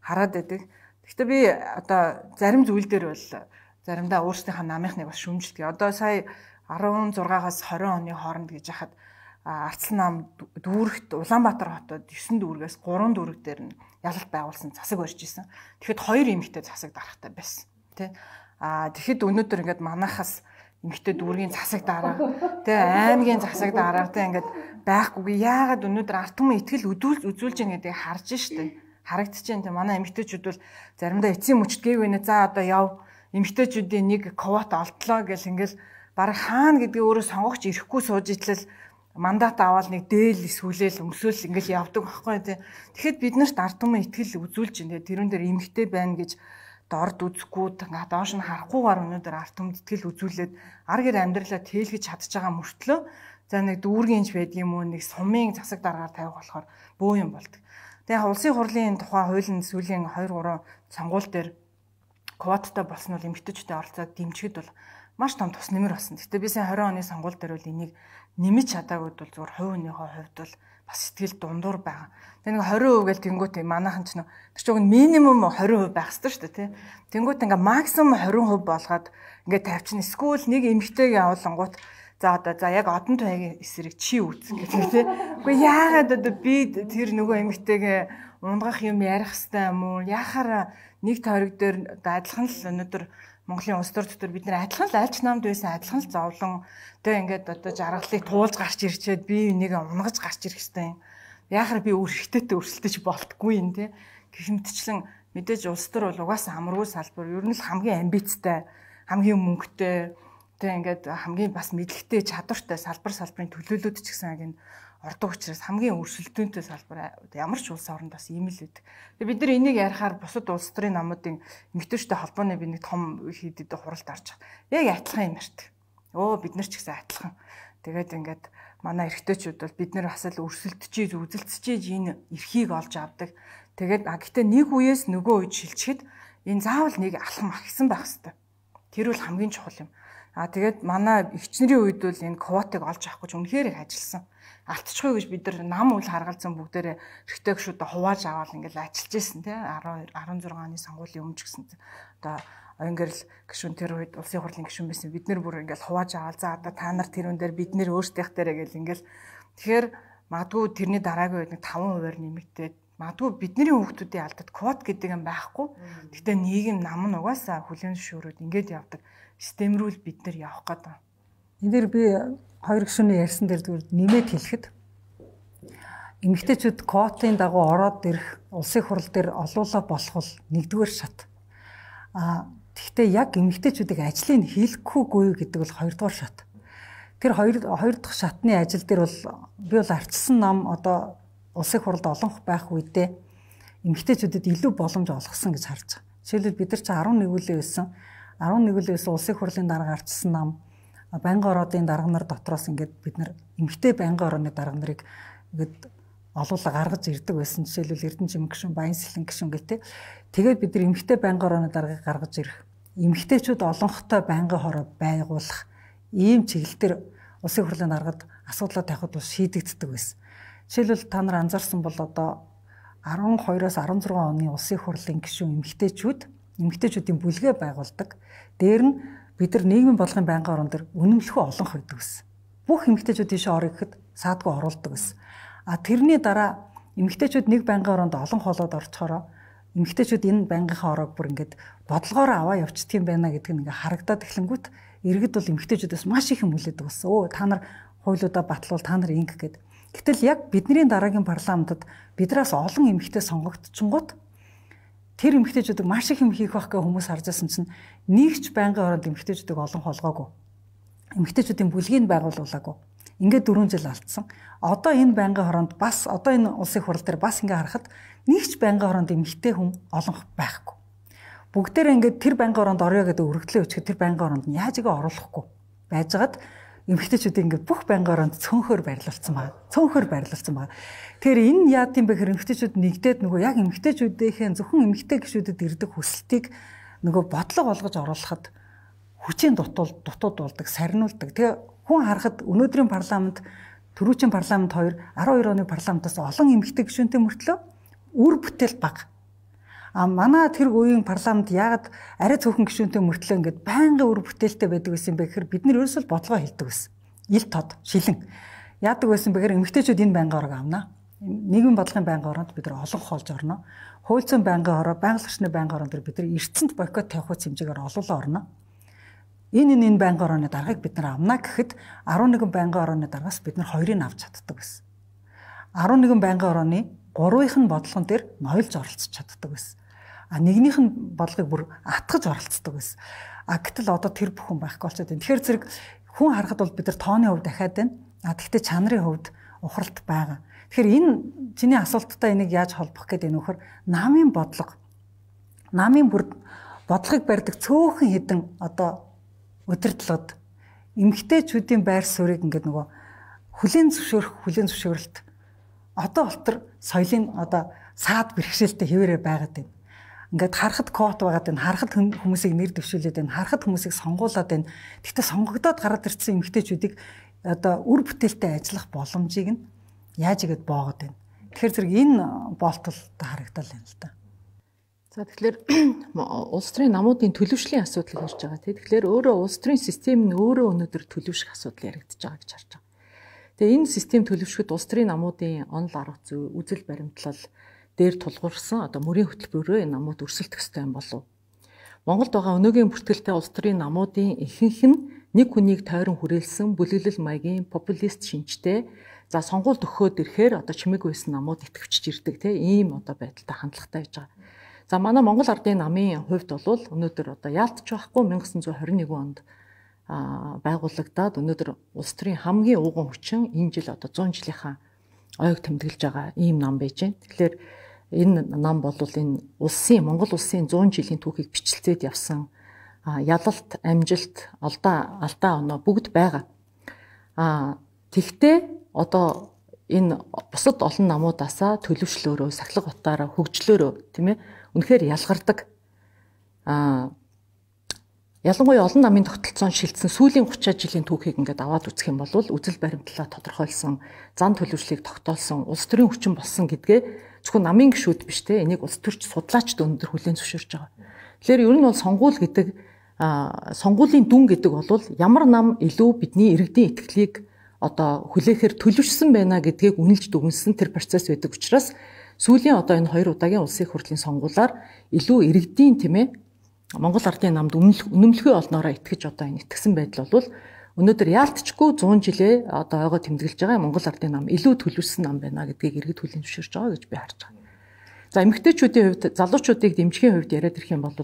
хараад байдаг. Гэхдээ би одоо зарим зүйл дээр бол заримдаа өөрсдийнхээ намынхныг бас шүүмжилдэг. Одоо сая арван зургаагаас двадцать оны хооронд гэж яхад Арцлан нам дүүрэгт Улаанбаатар хотод девять дүүргээс три дүүрэг дээр нь ялалт байгуулсан засаг барьж исэн. Тэгэхэд хоёр эмэгтэй засаг дарахтай байсан. Тэ а тэгэхэд өнөөдөр ингээд манахаас эмэгтэй дүүргийн засаг дараа тэ аймгийн засаг дараа тэ ингээд байхгүй. Яагаад өнөөдөр ард түмэн итгэл үзүүлж үзүүлж байгаа гэдгийг харж штэ. Харагдчихээн тэ манай эмэгтэйчүүд бол заримдаа эцсийн мөчт гээгүй нэ за одоо яв эмэгтэйчүүдийн нэг квота олдлоо гэл ингээл баг хаана гэдгийг өөрөө сонгогч ирэхгүй сууж итлэл мандат аваад нэг дээл сүлээл өмсөөл ингээл явдаг байхгүй тий. Тэгэхэд бид нарт ард түмэн итгэл үзүүлж байна. Тэрүүн дээр эмэгтэй байна гэж дорд үзэхгүй ингээ доош нь харахгүйгээр өнөөдөр ард түмэнд итгэл үзүүлээд ар гэр амьдралаа тээлгэж чадж байгаа мөртлөө за нэг дүүргийнч байдаг юм уу нэг сумын засаг дараагаар тавих болохоор бөө юм болдог. Тэгээ улсын хурлын тухай хуулийн сүүлийн two three сонгуул дээр квотатай болсон бол эмэгтэйчүүдийн оролцоог дэмжихэд бол маш том тус нэмэр болсон. Гэтэ би сая twenty оны сонгуул дээр бол энийг нэмэж чадаагүй бол зүгээр хувь хүнийхээ хувьд бол бас сэтгэл дундуур байгаа. Тэгээ нэг twenty percent гэл тэнгуут манайхан ч нөө тэр чинь минимум twenty percent байх ёстой шүү дээ тий. Тэнгуут ингээ максимум twenty percent болгоод ингээ тавьчихна. Эсвэл нэг эмэгтэйг явуулангууд за одоо за яг одон туяагийн эсрэг чи үүс гэдэг тий. Үгүй яагаад одоо би тэр нөгөө эмэгтэйгээ унгах юм ярих хэвээр юм уу? Яхаар нэг тойрог дээр адилхан л өнөөдөр Монголын улс төр дотор бид нэр адилхан л альч намд байсан адилхан л зовлон тэг ингээд одоо жаргалыг туулж гарч ирчээд би энийг унгаж гарч ирэх хэвээр юм. Яахаар би өөр ихтэйтэй өрсөлдөж болтгүй юм те. Гэх мэтчлэн мэдээж улс төр бол угаасаа амаргүй салбар ер нь л хамгийн амбицтай, хамгийн мөнгөтэй тэг ингээд хамгийн бас мэдлэгтэй чадвартай салбар салбарын төлөөлөлт ч гэсэн яг энэ ордог учраас хамгийн өрсөлдөөнтэй салбар ямар ч улс оронд бас ийм л байдаг. Тэгээ бид нар энийг ярихаар бусад улс төрийн намуудын эмэгтэйчтэй холбооны би нэг том хийдэд хуралд орж байгаа. Яг адилхан юм ярьдаг. Өө бид нар ч гэсэн адилхан. Тэгээд ингээд манай эрэгтэйчүүд бол бид нар бас л өрсөлдөж, үзэлцэж энэ эрхийг олж авдаг. Тэгээд а гэтээ нэг үеэс нөгөө үед шилжихэд энэ заавал нэг алхам ахисан байх хэвээр. Тэр бол хамгийн чухал юм. А тэгээд манай эгчнэрийн үед бол энэ квотыг олж авах гэж үнэхээр их ажилласан. Алтчихгүй гэж бид нар нам үл харгалзан бүгдээрээ эрэгтэй гişүүдээ хувааж аваад ингээл ажиллаж байсан тий twelve оны сонгуулийн өмнө ч гэсэн одоо оюнгэрл гişүүн тэр үед улсын хурлын гишүүн байсан бид нар бүр ингээл хувааж аваад за одоо та нар тэрүүн дээр бид нэр өөрсдийнх дээрээ гэл ингээл тэгэхээр магадгүй тэрний дараагийн үед нэг five percent нэмэгдээд магадгүй бидний хүүхдүүдийн алдад квот гэдэг юм байхгүй. Гэхдээ нийгэм нам нь угаасаа хүлээн зөвшөөрөөд ингээд явдаг системрүүл бид нар явах гэдэг. Энд дээр би хоёр гишүүний ярьсан дээр зүгээр нэмээд хэлэхэд эмэгтэйчүүд квотын дагуу ороод ирэх улсын хурал дээр олуулаа болох бол нэгдүгээр шат. А тэгвэл яг эмэгтэйчүүдийг ажлыг хийлгэхгүйгүй гэдэг бол хоёрдугаар шат. Тэр хоёр хоёр дахь шатны ажил дээр бол би бол арчилсан нам одоо улсын хуралд олонх байх үедээ эмэгтэйчүүдэд илүү боломж олгосон гэж харж байгаа. Жишээлбэл бид нар чи eleven үлээ байсан. eleven үлээ байсан улсын хурлын дарга арчилсан нам байнгын ороодын дарга нар дотроос ингээд бид нар эмэгтэй байнгын орооны дарга нарыг ингээд олуулаа гаргаж ирдэг байсан. Жишээлбэл Эрдэнэчим гишүүн, Баянсэлэн гишүүн гэх тээ. Тэгээд бид нар эмэгтэй байнгын орооны даргаыг гаргаж ирэх, эмэгтэйчүүд олонхтой байнгын хороо байгуулах ийм чиглэлээр улсын хурлын даргад асуудлаа тавихад бас шийдэгддэг байсан. Жишээлбэл та нар анзаарсан бол одоо twelve-оос sixteen оны улсын хурлын гишүүн эмэгтэйчүүд эмэгтэйчүүдийн бүлгээ байгуулдаг. Дээр нь бид нар нийгмийн бодлогын байнгын орон дээр үнэмлэхүй олон хойдог гэсэн. Бүх эмэгтэйчүүд тийш орё гэхэд саадгүй оруулдаг гэсэн. А тэрний дараа эмэгтэйчүүд нэг байнгын оронд олон хоолоод орчхороо эмэгтэйчүүд энэ байнгынхаа ороог бүр ингээд бодлогоороо аваа явчихдаг юм байна гэдэг нь ингээ харагдаад эхлэнгүүт иргэд бол эмэгтэйчүүдээс маш их юм хүлээдэг болсон. Өө та нар хуулиудаа батлуул та нар инг гэд. Гэтэл яг бидний дараагийн парламентод бидраас олон эмэгтэй сонгогдчихгоот тэр эмэгтэйчүүдийг маш их юм хийх байх гэх хүмүүс харж байсан чинь нэг ч байнгын оронд эмэгтэйчүүдийг олон холгоогүй. Эмэгтэйчүүдийн бүлгийг байгуулуулаагүй. Ингээд дөрвөн жил алдсан. Одоо энэ байнгын хороонд бас одоо энэ улсын хурал дээр бас ингээ харахад нэг ч байнгын хороонд эмэгтэй хүн олонх байхгүй. Бүгдээрээ ингээд тэр байнгын хороонд орё гэдэг өргөдлөө өчгөд тэр байнгын хороонд нь яаж игээ оруулахгүй байжгаад эмэгтэйчүүд ингээд бүх байнгын хороонд цөөнхөр байрлуулсан байна. Цөөнхөр байрлуулсан байна. Тэгэхээр энэ яад юм бэ гэхээр эмэгтэйчүүд нэгдээд нөгөө яг эмэгтэйчүүдийнхээ зөвхөн эмэгтэй гишүүдэд ирдэг хүсэлтийг нөгөө бодлого болгож оруулахад хүчийн дутуул дутууд болдог, сарниулдаг. Тэгээ хүн харахад өнөөдрийн парламент, түрүүчийн парламент хоёр арван хоёр оны парламентаас олон эмэгтэй гишүүнтэй мөртлөө үр бүтээл бага. А манай тэр үеийн парламент яагаад арай цөөхөн гишүүнтэй мөртлөө ингээд байнгын үр бүтээлтэй байдаг гэсэн бэ гэхээр бид нар ерөөсөө бодлогоо хэлдэг байсан. Ил тод, шилэн. Яадаг байсан бэ гэхээр эмэгтэйчүүд энэ байнгын хорог авнаа. Нийгмийн бодлогын байнгын хороонд бид нар олон хоолж орно. Хууль зүйн байнгын хороо, байгаль орчны байнгын хороон дээр бид нар эрдэнэт бойкот тавих үс хэмжээгээр олуулаа орно. Энэ энэ байнгын хорооны даргаыг бид нар авнаа гэхэд арван нэгэн байнгын хорооны даргаас бид нар хоёрыг авч чаддаг байсан. арван нэгэн байнгын хорооны гурвынх нь бодлогон дээр ноёлж оролцож чаддаг байсан. А нэгнийх нь бодлогыг бүр атгаж оролцдог байсан. А гэтэл одоо тэр бүхэн байхгүй болчиход байна. Тэгэхээр зэрэг хүн харахад бол бид нар тооны хувьд дахиад байна. А тэгвэл чанарын хувьд ухралт байгаа. Тэгэхээр энэ чиний асуулттай энийг яаж холбох гэдэг нь нөхөр намын бодлого, намын бүр бодлогыг барьдаг цөөхөн хэдэн одоо удирдлагад эмэгтэйчүүдийн байр суурийг ингээд нөгөө хүлээн зөвшөөрөх, хүлээн зөвшөөрөлт одоо болтор соёлын одоо саад бэрхшээлтэй хэвээрээ байгаад байна. Ингээд харахад квот байгаад байна, харахад хүмүүсийг нэр дэвшүүлээд байна, харахад хүмүүсийг сонгуулад байна. Гэхдээ сонгогдоод гараад ирсэн эмэгтэйчүүдийг одоо үр бүтээлтэй ажиллах боломжийг нь яаж игээд боогод байна. Тэгэхээр зэрэг энэ болтол харагдал байна л да. За тэгэхээр улс төрийн намуудын төлөвшлийн асуудал ярьж байгаа тийм. Тэгэхээр өөрөө улс төрийн систем нь өөрөө өнөөдөр төлөвшөх асуудал яригдж байгаа гэж харж байгаа. Тэгээ энэ систем төлөвшөхөд улс төрийн намуудын онол арга зүй, үзэл баримтлал дээр тулгуурсан одоо мөрийн хөтөлбөрөөр энэ намууд өрсөлдөх ёстой юм болов. Монголд байгаа өнөөгийн бүртгэлтэй улс төрийн намуудын ихэнх нь нэг хүнийг тойрон хүрээлсэн бүлэглэл маягийн популист шинжтэй за сонгуульд өгөхөд ирэхээр одоо чимэг байсан намууд итгэвчж ирдэг тийм ийм одоо байдалтай хандлагатай байж байгаа. За манай Монгол Ардын намын хувьд бол өнөөдөр одоо яалтч байхгүй 천ix тwenty one онд байгуулагдаад өнөөдөр улс төрийн хамгийн ууган хүчин энэ жил одоо one hundred жилийнхаа ойг тэмдэглэж байгаа ийм нам байж байна. Тэгэхээр энэ нам бол энэ улсын Монгол улсын one hundred жилийн түүхийг бичлцээд явсан ялалт, амжилт, алдаа, алдаа оноо бүгд байгаа. А тэгтээ одоо энэ бусад олон намуудаасаа төлөвшлөөрөө, сахилга утаараа, хөгжлөөрөө тийм ээ үнэхээр ялгардаг. А ялангуяа олон намын тогтолцоон шилжсэн сүүлийн thirty жилийн түүхийг ингээд аваад үзэх юм бол үзэл баримтлалаа тодорхойлсон, зан төлөвшлийг тогтоолсон, улс төрийн хүчин болсон гэдгээ зөвхөн намын гишүүд биш те энийг улс төрч судлаачд өндөр хүлээн зөвшөөрч байгаа. Тэгэхээр ер нь бол сонгуул гэдэг сонгуулийн дүн гэдэг бол ямар нам илүү бидний иргэдийн итгэлийг одоо хүлээхээр төлөвшсөн байна гэдгийг үнэлж дүгнсэн тэр процесс байдаг учраас сүүлийн одоо энэ хоёр удаагийн улсын хурлын сонгуулиар илүү иргэдийн тийм ээ Монгол Ардын намд үнэмлэхүй олноороо итгэж одоо энэ итгэсэн байдал бол өнөөдөр яалтчгүй one hundred жилээ одоо ойгоо тэмдэглэж байгаа Монгол Ардын нам илүү төлөвшсөн нам байна гэдгийг иргэд хүлээн зөвшөөрч байгаа гэж би харж байгаа. За эмэгтэйчүүдийн хувьд залуучуудыг дэмжихийн хувьд яриад ирэх юм бол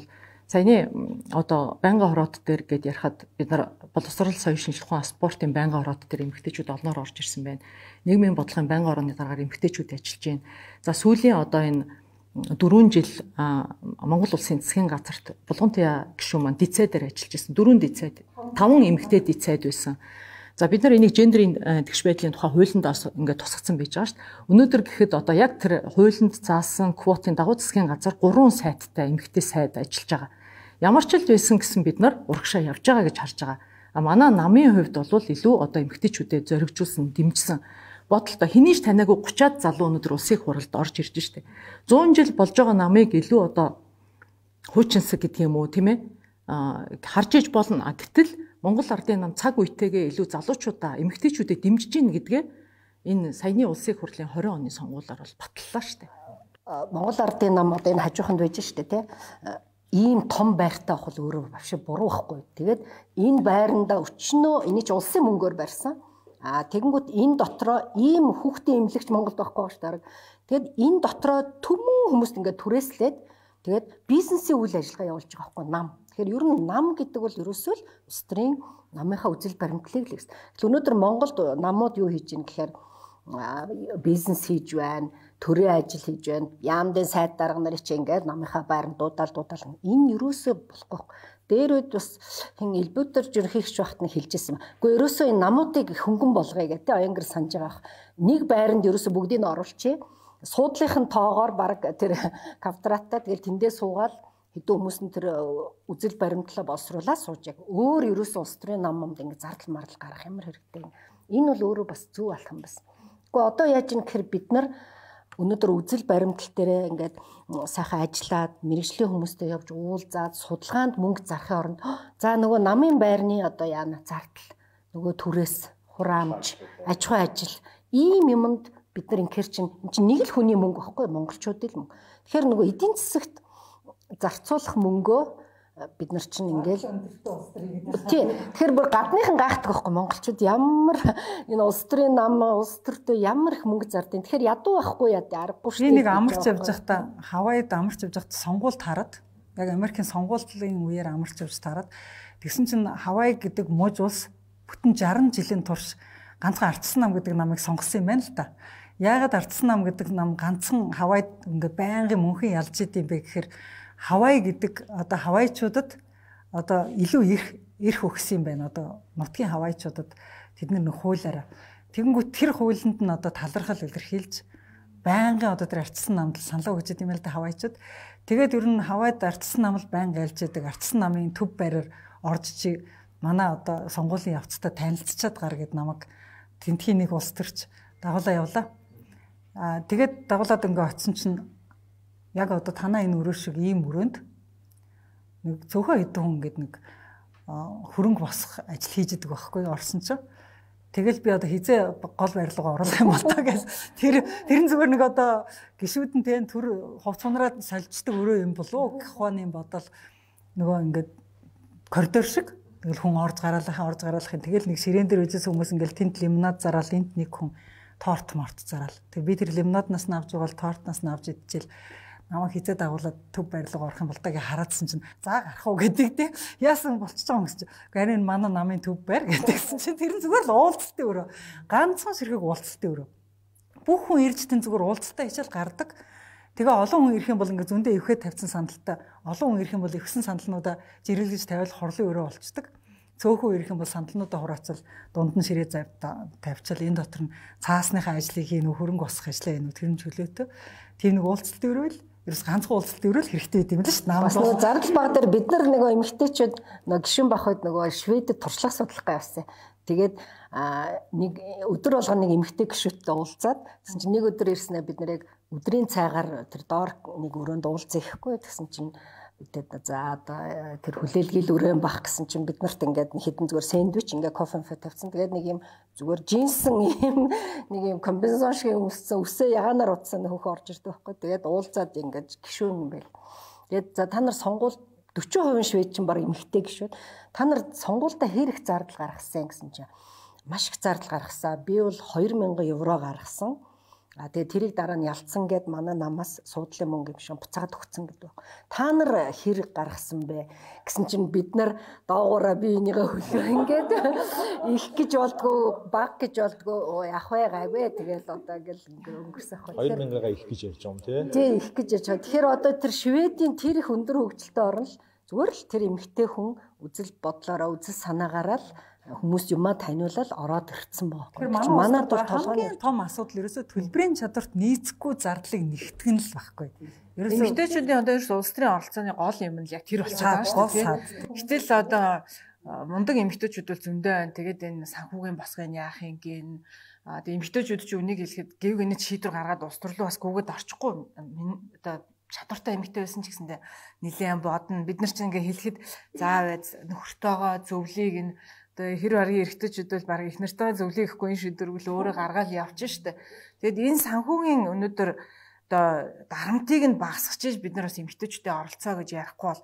саяны одоо байнгын хороот дээр гээд ярихад бид нар боловсрол соёлын шинжилгээ ухаан спортын байнгын хороот дээр эмэгтэйчүүд олноор орж ирсэн байна. Нийгмийн бодлогын байнгын хорооны дараагаар эмэгтэйчүүд ажиллаж байна. За сүүлийн одоо энэ дөрвөн жил Монгол улсын засгийн газарт Булгантуяа гишүүн маань дицээ дээр ажиллаж байсан. Дөрвөн дицээд таван эмэгтэй дицээд байсан. За бид нар энийг гендерийн тэгш байдлын тухай хуулинд ингээд тусгацсан байж байгаа шүү дээ. Өнөөдөр гэхэд одоо яг тэр хуулинд заасан квотын дагуу засгийн газар гурван сайттай эмэгтэй сайд ажиллаж байгаа. Ямар ч л байсан гэсэн бид нар урагшаа явж байгаа гэж харж байгаа. А манай намын хувьд бол илүү одоо эмэгтэйчүүдэд зоригжуулсан, дэмжсэн бодолтой хэний ч танаагүй thirty залуу өнөөдөр улсын хуралд орж ирж штэ. one hundred жил болж байгаа намыг илүү одоо хуучинсаг гэдэг юм уу тийм ээ харж иж болно. Гэтэл Монгол Ардын нам цаг үетэйгээ илүү залуучуудаа эмэгтэйчүүдэд дэмжиж гин гэдгээ энэ саяны улсын хурлын twenty оны сонгуулиар бол батллаа штэ. Монгол Ардын нам одоо энэ хажууханд байж штэ тий. Ийм том байртай авах бол өөрөө бавши буруу байхгүй. Тэгээд энэ байранда өчнөө энийг ч улсын мөнгөөр барьсан. А тэгэнгүүт энэ дотроо ийм хүүхдийн эмнэлэгч Монголд байхгүй шүү дээ. Тэгэд энэ дотроо төмөн хүмүүст ингээд түрээслээд Тэгээд бизнесийн үйл ажиллагаа явуулж байгаа байхгүй нам. Тэгэхээр ер нь нам гэдэг бол ерөөсөө л улс төрийн намынхаа үзэл баримтлалыг л гэсэн. Тэгэхээр өнөөдөр Монголд намууд юу хийж ийн гэхээр бизнес хийж байна, төрийн ажил хийж байна. Яамдын сайд дарга нарыг чи ингээд намынхаа байранд дуудаал дуудаал. Энэ ерөөсөө болохгүй. Дээр үед бас хин элбүтер жирхийгч багт нь хэлжсэн юм. Гэхдээ ерөөсөө энэ намуудыг хөнгөн болгоё гэдэг аянгэр санаж байгаа. Нэг байранд ерөөсөө бүгдийг нь оруулчихъя. Суудлынхын тоогоор баг тэр квадраттай тэгэл тэндээ суугаад хэдэн хүмүүс нь тэр үзэл баримтлалаа боловсруулаад сууж яг өөр ерөөсөө улс төрийн нам юмд ингэ зардал мардал гарах ямар хэрэгтэй. Энэ бол өөрөө бас зөв алах юм байна. Гэхдээ одоо яаж юм гэхээр бид нар өнөөдөр үзэл баримтлал дээр ингээд сайхан ажиллаад мэрэгжлийн хүмүүстэй явж уулзаад судалгаанд мөнгө зарахын оронд за нөгөө намын байрны одоо яана зардал нөгөө түрээс хураамж аж ахуй ажил ийм юмд бид нар инхээр чинь эн чинь нэг л хүний мөнгө байхгүй монголчуудын мөнгө. Тэгэхээр нөгөө эдийн засагт зарцуулах мөнгөө бид нар чинь ингээл тий. Тэгэхээр бүр гадныхан гайхдаг байхгүй монголчууд ямар энэ улс төрийн нам улс төртөө ямар их мөнгө зардیں۔ Тэгэхээр ядуу байхгүй яа аргагүй шүү дээ. Би нэг амарч явж байхдаа Хавайд амарч явж байхдаа сонгуульд хараад яг Америкийн сонгуулийн үеэр амарч явж тараад тэгсэн чинь Хавай гэдэг мууж улс бүтэн шаран жилийн турш ганцхан Ардсан нам гэдэг намыг сонгосон юм байна л да. Яагаад Ардсан нам гэдэг нам ганцхан Хавайд ингээ байнгын мөнхөн ялж идэм бэ гэхээр Хавай гэдэг одоо хавайчуудад одоо илүү их эрх өгсөн юм байна. Одоо нутгийн хавайчуудад тэд нар нэг хуулиараа. Тэгэнгүүт тэр хуулинд нь одоо талархал илэрхийлж байнгын одоо тэр Ардсан намд саналаа өгч идэм байл да хавайчууд. Тэгээд ер нь Хавайд Ардсан нам л байнга айлж идэг. Ардсан намын төв байраар орж чи манай одоо сонгуулийн явцтай танилцчаад гар гэд намайг тентхийн нэг улс төрч дагуулаа явлаа. Аа тэгээд дагуулад ингээ очсон чинь яг одоо танаа энэ өрөө шиг ийм өрөөнд нэг цөөхөн хэдэн хүн гээд нэг хөрөнгө босох ажил хийж идэг байхгүй орсон чинь тэгэл би одоо хизээ гол барилга оруулах юм бол таа гэж тэр тэрэн зүгээр нэг одоо гişүүдэн тэн төр хувцунараа солилцдог өрөө юм болов гэх ухааны бодол нөгөө ингээд коридор шиг тэгэл хүн орж гараалахын орж гараалахын тэгэл нэг ширээн дээр үжээс хүмүүс ингээл тэнд лимонад зараал энд нэг хүн торт морт зараал тэг би тэр лимонаднаас нь авч байгаа тортнаас нь авч идчихэл намайг хизээ дагуулад төв барилга орох юм бол таги хараадсан чинь за гарах уу гэдэг те яасан болчихж байгаа юм гэж. Гэхдээ энэ манай намын төв байр гэдэгсэн чинь тэр нь зүгээр л уулзалтын өрөө. Ганцхан ширхэг уулзалтын өрөө. Бүх хүн ирж тэн зүгээр уулзалтаа хичээл гардаг. Тэгээ олон хүн ирэх юм бол ингээ зөндөө өвхөд тавьсан сандалтай. Олон хүн ирэх юм бол өвсөн сандалнуудаа жирэлгэж тавиал хорлын өрөө болцдог. Цөөхөн ирэх юм бол сандалнуудаа хураацал дунд нь ширээ тавьчаал энэ дотор нь цаасныхаа ажлыг хийн хөрөнгө босох ажлаа энэ тэр нь чөлөөтэй. Тэр нэг уулзалтын өрөө л ерөөс ганцхан уулзалт өрөөл хэрэгтэй гэдэг юм л шүү дээ. Намаас нөгөө зардал баг дээр бид нар нөгөө эмэгтэйчүүд нөгөө гишүүн бахад нөгөө Шведэд туршлага судлахгаа явсан. Тэгээд нэг өдөр болгоно нэг эмэгтэй гишүүдтэй уулзаад тэгсэн чинь нэг өдөр ирснээр бид нэр яг өдрийн цайгаар тэр доор нэг өрөөнд уулзах ихгүй тэгсэн чинь бидэд за одоо тэр хүлээлгээл өрөөн бах гэсэн чинь бид нарт ингээд хэдэн зүгээр сэндвич ингээд кофе фэ тавьсан. Тэгээд нэг юм зүгээр жинсэн юм нэг юм комбинезон шиг өмссөн үсээ ягаанаар утсан хөхөө орж ирдэг байхгүй. Тэгээд уулзаад ингээд гişүүн юм байл. Тэгээд за та нар сонгуул forty percent швед чинь баг эмэгтэй гişүүд. Та нар сонгуультай хэр их зардал гаргасан гэсэн чинь маш их зардал гаргасан. Би бол two thousand евро гаргасан. А тэгээ тэрийг дараа нь ялцсан гэд манай намаас суудлын мөнгө юм шиг буцаад өгцөн гэдэг. Та нар хэрэг гаргасан бэ гэсэн чинь бид нар доогоороо би энийгээ хөлөө ингээд их гэж болдгоо баг гэж болдгоо ах вэ гайвэ тэгэл одоо ингээл өнгөрсөх байх. two thousand-аа их гэж ярьж байгаа юм тий. Тий их гэж ярьж байгаа. Тэгэхээр одоо тэр Шведийн тэр их өндөр хөгжилтэй орн л зүгээр л тэр эмэгтэй хүн үзэл бодлороо үзэл санаагаараа л хүмүүс юмаа таниулаад ороод ирсэн баг. Манай дур толгойн том асуудал ерөөсөө төлбөрийн чадварт нийцэхгүй зардлыг нэгтгэн л байхгүй. Ерөөсөө эмэгтэйчүүдийн одоо ерөөсөө улс төрийн оролцооны гол юм нь яг тэр болчиход байгаа шүү дээ. Гэтэл одоо мундаг эмэгтэйчүүд бол зөндөө байна. Тэгээд энэ санхүүгийн босгын яах юм гин. А тэгээд эмэгтэйчүүд ч үнийг хэлэхэд гэв гинэ шийдвэр гаргаад улс төрлөө бас гүгэд орчихгүй одоо чадвартай эмэгтэй байсан ч гэсэндээ нэлээд бодно. Бид нар ч ингээ хэлэхэд заа байц нөхөртөөгөө зөвлийг энэ одоо хэр баргийн эрэгтэйчүүд бол баг их нартайгаа зөвлийг ихгүй энэ шийдвэргүй өөрөө гаргаад явчих штэ. Тэгэд энэ санхүүгийн өнөөдөр одоо дарамтыг нь багасгаж иж бид нар бас эмэгтэйчүүдтэй оролцоо гэж ярихгүй бол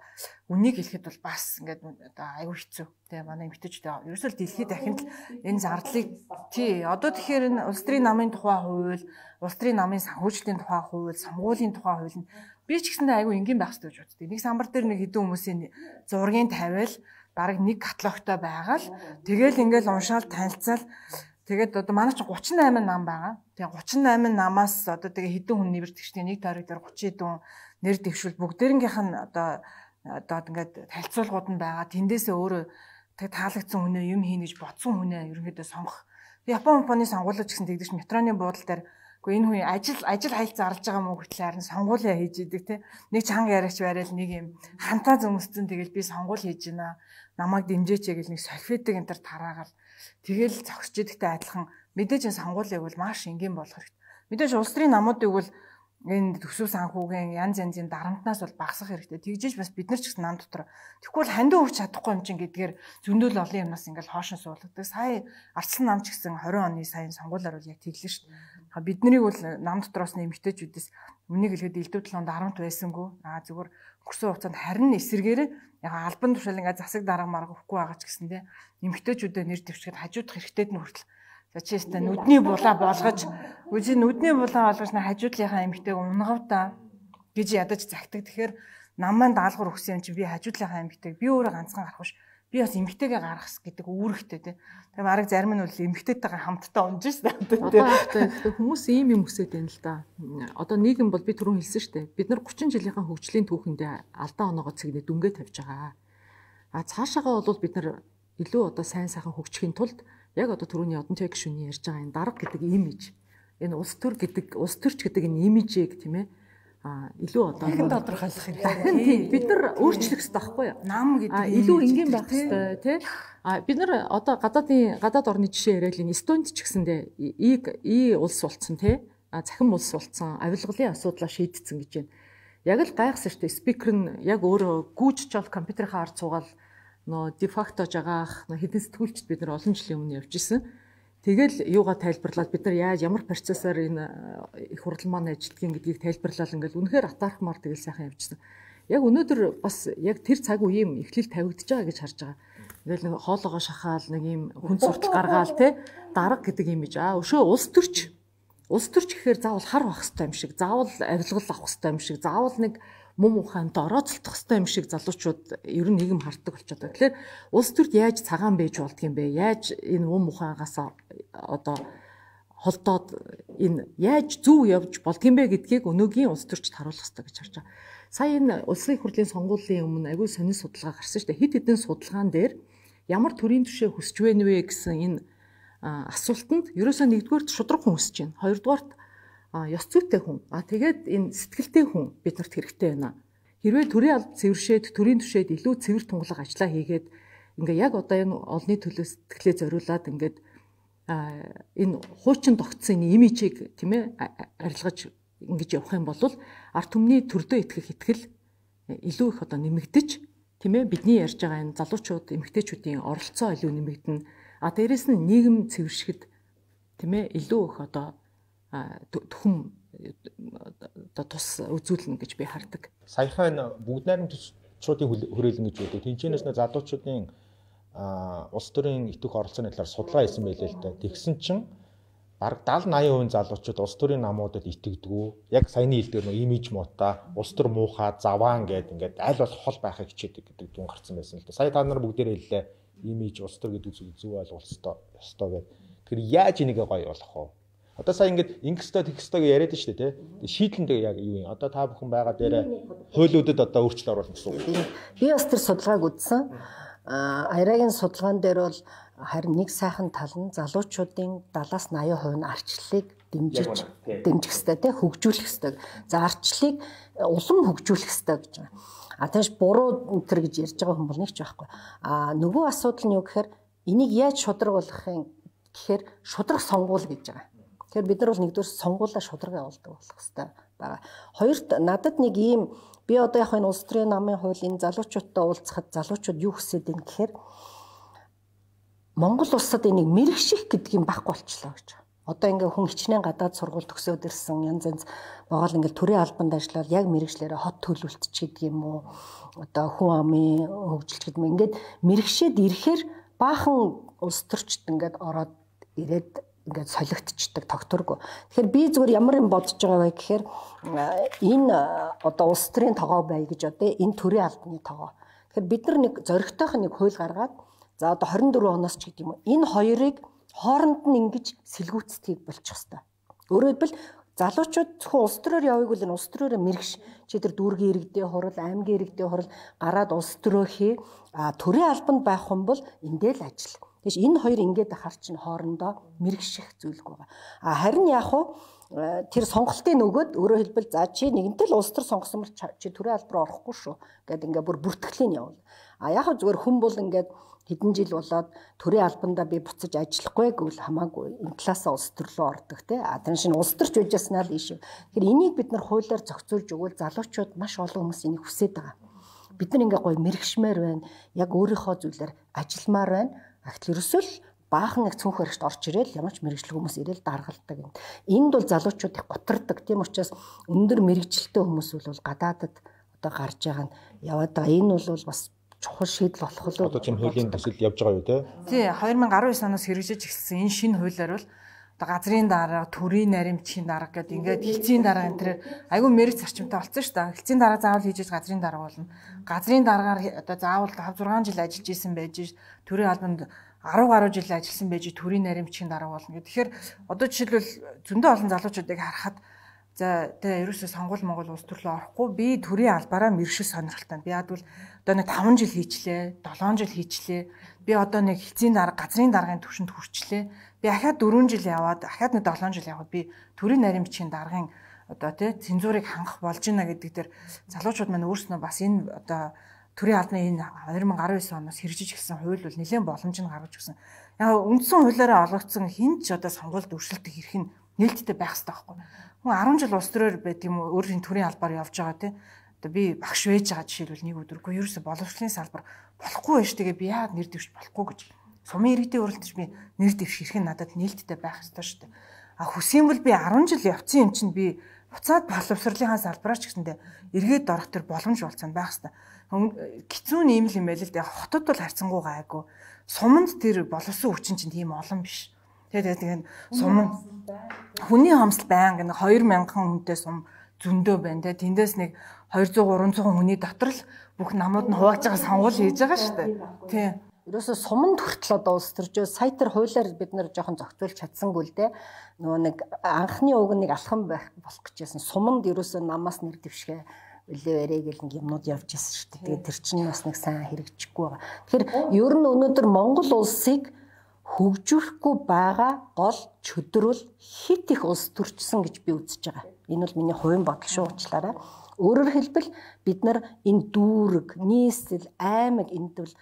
үнийг хэлэхэд бол бас ингээд одоо аюу хэцүү. Тэ манай эмэгтэйчүүдтэй ерөөсөө дэлхийд дахинд л энэ зардлыг тий одоо тэгэхээр энэ улс төрийн намын тухай хууль, улс төрийн намын санхүүжилтийн тухай хууль, сонгуулийн тухай хууль нь Би ч гэсэндээ айгүй энгийн байх хэрэгтэй гэж боддог. Нэг самбар дээр нэг хэдэн хүмүүсийн зургийг тавиал дараг нэг каталогтой байгаал тэгэл ингээл уншаал танилцаал тэгээд одоо манай ч гучин и восемь нам байгаа. Тэгээ гучин и восемь намаас одоо тэгээ хэдэн хүн нэр дэвшдэг нэг тойрог дээр тридцать хэдэн нэр дэвшвэл бүгдээрнийх нь одоо одоо ингээд танилцуулгууд нь байгаа. Тэндээсээ өөрөө тэг таалагдсан хүнээ юм хийнэ гэж бодсон хүнээ ерөнхийдөө сонгох. Япон компани сонгуулж гэсэн тэгдэж метроны буудлын дээр үгүй энэ хүн ажил ажил хайлт зарлж байгаа мó гэтэл харин сонгуулиа хийж идэг те. Нэг чанга яриач байрал нэг юм хантаа зөмсцэн тэгэл би сонгуул хийж байна. Намайг дэмжээч гэл нэг сольфитик энэ төр тараагаал тэгэл зогсож идэгтэй адилхан мэдээж энэ сонгуулийг бол маш энгийн болох хэрэгтэй. Мэдээж улс төрийн намуудыг бол энэ төсөв санхүүгийн янз янзын дарамтнаас бол багасгах хэрэгтэй. Тэгжээж бас бид нар ч гэсэн нам дотор тэгвэл хандив өгч чадахгүй юм чинь гэдгээр зөндөл олон юмнаас ингээл хоошин суулгадаг. Сая Арслан нам ч гэсэн двадцать оны сайн сонгуулиар бол яг тэглэн шүү дээ. Бид нарыг бол нам дотроос нэмэгтэйчүүдээс үнийг хэлэхэд элдв толгойд дарамт байсангүй. Аа зүгээр өнгөрсөн хугацаанд харин эсэргээр яг албан тушаал ингээ засаг дарга марга өгөхгүй байгаа ч гэсэн те нэмэгтэйчүүдэд нэр дэвшгээд хажуудах хэрэгтэй нь хүртэл за чи өстө нүдний булаа болгож үгүй нүдний булаа болгож хажуудлынхаа эмэгтэйг унгавда гэж ядаж загтаг. Тэгэхээр нам маань даалгавар өгсөн юм чи би хажуудлынхаа эмэгтэйг би өөрөө ганцхан гарах биш. Би бас эмэгтэйгээ гаргах гэдэг үүрэгтэй тий. Тэгээ бараг зарим нь бол эмэгтэйтэйгээ хамтдаа унж шээ тий. Одоо хүмүүс ийм юм хүсэж байна л да. Одоо нийгэм бол би түрүүн хэлсэн шүү дээ. Бид нар гучин жилийнхаа хөгжлийн түүхэндээ алдаа оноогоо цэгнээ дүнгээ тавьж байгаа. А цаашаагаа бол бид нар илүү одоо сайн сайхан хөгжихийн тулд яг одоо түрүүний одонтой гишүүний ярьж байгаа энэ дарга гэдэг имиж, энэ улс төр гэдэг, улс төрч гэдэг энэ имижийг тийм ээ а илүү одоо хэн тодорхойлох хэрэгтэй. Бид нар өөрчлөх хэрэгтэй байхгүй юу? Нам гэдэг илүү энгийн байх хэрэгтэй тий. А бид нар одоо гадаадын гадаад орны жишээ яриад энэ Эстонд ч гэсэндээ ийг и улс болцсон тий. А захин улс болцсон, авилгалын асуудлаа шийдсэн гэж байна. Яг л гайхсан шүү дээ. Спикер нь яг өөрөө гүйж чол компьютерийн ард суугаад нөө дефакто жагаах хэдэн сэтгүүлчд бид нар олон жилийн өмнө явж исэн. Тэгэл юугаа тайлбарлаад бид нар яаж ямар процессор энэ их хурал маань ажилтгийг гэдгийг тайлбарлал ингээл үнэхээр атаархмаар тэгэл сайхан явжсан. Яг өнөөдөр бас яг тэр цаг үе юм эхлэл тавигдж байгаа гэж харж байгаа. Ингээл хоолоогоо шахаал нэг юм хүн суртал гаргаал те дарга гэдэг юм иж. Аа өшөө улс төрч. Улс төрч гэхээр заавал хар бах хэвээр юм шиг, заавал авилгал авах хэвээр юм шиг, заавал нэг мум ухаанд орооцолдох хэвээр юм шиг залуучууд ер нь нийгэм харддаг болчиход байгаа. Тэгэхээр улс төрд яаж цагаан байж болдго юм бэ? Яаж энэ мум ухаагаас одоо холдоод энэ яаж зөв явж болдго юм бэ гэдгийг өнөөгийн улс төрчд харуулах хэрэгтэй гэж харж байгаа. Сая энэ улсын их хурлын сонгуулийн өмнө аягүй сонир судалгаа гарсан шүү дээ. Хэд хэдэн судалгаан дээр ямар төрийн түвшээ хүсэж байна вэ гэсэн энэ асуултанд ерөөсөө нэгдүгээрт шудраг хүн хүсэж байна. Хоёрдугаарт ёс зүйтэй хүн. А тэгээд энэ сэтгэлтэй хүн биднэрт хэрэгтэй байна. Хэрвээ төрийн алба цэвэршээд төрийн түвшээд илүү цэвэр тунгалаг ажиллаа хийгээд ингээ яг одоо энэ олны төлөө сэтгэлээ зориулаад ингээд энэ хуучин тогтсон энэ имижийг тийм ээ арилгаж ингэж явах юм бол ард түмний төрдөө итгэх итгэл илүү их одоо нэмэгдэж тийм ээ бидний ярьж байгаа энэ залуучууд эмэгтэйчүүдийн оролцоо илүү нэмэгдэнэ. А дээрэс нь нийгэм цэвэршгэд тийм ээ илүү их одоо түхэм одоо тус үзүүлнэ гэж би хардаг. Саяхан бүгд найрамд төсчруудын хүрээлэн гэж үүдэг. Тэнцэнээс нэ залуучуудын улс төрийн итвэх оролцооны талаар судалгаа хийсэн байлээ л дээ. Тэгсэн чинь бараг дагалл восемь процент залуучууд улс төрийн намуудад итгэдэггүй. Яг саяны хэлдгээр нөө имиж муута, улс төр муухай, заваан гэдэг ингээд аль болох хол байхыг хичээдэг гэдэг дүн гарсан байсан л дээ. Сая та нар бүгдээрээ хэллээ. Имиж улс төр гэдэг зүйл зөв ойлголцтой ёстой гэдэг. Тэгэхээр яаж энийг гоё болох вэ? Одоо сая ингээд ингэстэй тэгстэй гэж яриад шүү дээ тий. Шийдлэндээ яг юу юм? Одоо та бүхэн байгаа дээрээ хуулиудад одоо өөрчлөлт оруулах гэсэн үг. Би бас тэр судалгааг үзсэн. А Аярагийн судалгаан дээр бол харин нэг сайхан тал нь залуучуудын семьдесят восемь хувь нь арчлалыг дэмжиж дэмжих хэрэгтэй тий хөгжүүлэх хэрэгтэй. За арчлалыг улам хөгжүүлэх хэрэгтэй гэж байгаа. А тэгэж буруу өнтер гэж ярьж байгаа хүн бол нэг ч байхгүй. А нөгөө асуудал нь юу гэхээр энийг яаж шудраг болгохын гэхээр шудраг сонгуул гэж байгаа. Тэгэхээр бид нар бол нэгдүгээр сонгуулаа шудраг явуулдаг болох хэрэгтэй байгаа. Хоёрт надад нэг ийм би одоо яг энэ улс төрийн намын хуулийн залуучуудтай уулзахад залуучууд юу хүсэж байна гэхээр Монгол улсад энийг мэрэгших гэдэг юм байхгүй болчлоо гэж. Одоо ингээ хүн хичнээн гадаад сургууль төгсөөд ирсэн янз янз байгаа л ингээл төрийн албанд ажиллаад яг мэрэгчлэрээ хот төлөвлөлтч гэдэг юм уу одоо хүн амын хөгжилч гэдэг юм ингээд мэрэгшээд ирэхээр баахан улс төрчд ингээд ороод ирээд ингээд солигдчихдаг тогтворгүй. Тэгэхээр би зүгээр ямар юм бодож байгаа вэ гэхээр энэ одоо улс төрийн тогоо бай гэж одоо энэ төрийн албаны тогоо. Тэгэхээр бид нар нэг зоригтойх нэг хууль гаргаад за одоо хорин дөрвөн оноос ч гэдэг юм уу энэ хоёрыг хооронд нь ингэж сэлгүүцтгийг болчих хэвээр. Өөрөөр хэлбэл залуучууд зөвхөн улс төрөөр явъяг бол энэ улс төрөөрөө мэрэгш чи тэр дүүргийн иргэдийн хурал, аймгийн иргэдийн хурал гараад улс төрөө хий. А төрийн албанд байх хүн бол эндээ л ажил. Тэгэж энэ хоёр ингээд ахаар чинь хоорондоо мэрэгших зүйлгүй байгаа. А харин яг уу тэр сонголтын нөгөөд өөрөөр хэлбэл за чи нэгэнтэй л улс төр сонгосон бол чи төрийн албаар орохгүй шүү гэдэг ингээд бүр бүртгэлийн явуул. А яг зүгээр хүн бол ингээд хэдэн жил болоод төрийн албандаа би буцаж ажиллахгүй гэвэл хамаагүй энэ талаасаа улс төр рүү ордог те. А тэр шинэ улс төрч үжиаснаа л ийш. Тэгэхээр энийг бид нар хуулиар зохицуулж өгвөл залуучууд маш олон хүмүүс энийг хүсэж байгаа. Бид нар ингээ гоё мэрэгшмээр байна. Яг өөрийнхөө зүйлээр ажилламаар байна. Ахтл ерөөсөө л баахан нэг цүнх баригт орж ирэл ямар ч мэрэгчлэг хүмүүс ирэл даргалдаг юм. Энд бол залуучууд их готардаг. Тийм учраас өндөр мэрэгчлэлтэй хүмүүс бол гадаадад одоо гарч байгаа нь яваад байгаа. Энэ бол бас чухал шийдэл болох л одоо чинь хуулийн төсөл явж байгаа юу те? Тий, две тысячи десять оноос хэрэгжиж эхэлсэн энэ шинэ хуулиар бол одоо газрын дарга, төрийн наримчийн дарга гэдэг ингээд хэлцийн дарга энэ төр айгүй мэрэг зарчимтай болсон шүү дээ. Хэлцийн дарга заавал хийж газрын дарга болно. Газрын даргаар одоо заавал five six жил ажиллаж исэн байж төрийн албанд ten гаруй жил ажилласан байж төрийн наримчийн дарга болно гэх. Тэгэхээр одоо жишээлбэл зөндөө олон залуучуудыг харахад за тэгээ ерөөсөө сонгол Монгол улс төрлөө орохгүй би төрийн албаараа мэрэгшил сонирхолтой. Би яад бол одоо нэг five жил хийчлээ, seven жил хийчлээ. Би одоо нэг хэлцийн дарга, газрын даргын түвшинд хүрчлээ. Би ахаад four жил яваад, ахаад нэг seven жил яваад би төрийн наримчийн даргын одоо тий цензурыг хангах болж байна гэдэг дээр залуучууд маань өөрснөө бас энэ одоо төрийн албаны энэ twenty nineteen оноос хэрэгжиж эхэлсэн хууль бол нэлээд боломж нь гаргаж өгсөн. Яг үндсэн хуулиараа олгогдсон хин ч одоо сонгуульд өршөлтөх эрх нь нээлттэй байх хэрэгтэй байхгүй. Хүн ten жил улс төрөөр байд юм уу өөрийн төрийн албаар явж байгаа тий. Одоо би багш байж байгаа жишээлбэл нэг өдөргүй ерөөсө боловсролын салбар болохгүй байж тэгээ би яагаад нэр дэвшиж болохгүй гэж. Сумын иргэдийн уралдаж би нэр дэвших эрх нь надад нээлттэй байх хэрэгтэй шүү дээ. А хүсэм бол би ten жил явцсан юм чинь би буцаад боловсролынхаа салбараар ч гэсэндээ эргээд орох төр боломж болцсон байх хэрэгтэй. Гизүүн ийм л юм байл л дээ. Хотод бол харьцангуй гайгүй. Суманд тэр боловсон хүчин чинь тийм олон биш. Тэгээд тэгээд сум хүний хомсол байнга нэг two thousand хүнтэй сум зөндөө байна те. Тэндээс нэг two hundred three hundred хүний дотор л бүх намууд нь хувааж байгаа сонгуул хийж байгаа шүү дээ. Тий. Ерөөсө суманд хүртэл одоо улс төржөө сая тэр хуулиар бид нэр жоохон зохицуулж чадсангүй л дээ. Нөгөө нэг анхны уг нэг алхам байх болох гэжсэн. Суманд ерөөсө намаас нэр дэвшгэ үлэвэрээ гэл нэг юмнууд явж ирсэн шүү дээ. Тэгээд тэр чинь бас нэг сайн хэрэгжихгүй байгаа. Тэгэхээр ер нь өнөөдөр Монгол улсыг хөгжүүлэхгүй байгаа гол чөдрөл хит их улс төрчсөн гэж би үзэж байгаа. Энэ бол миний хувийн бодол шүү уучлаарай. Өөрөөр хэлбэл бид нар энэ дүүрэг, нийслэл, аймаг энд бол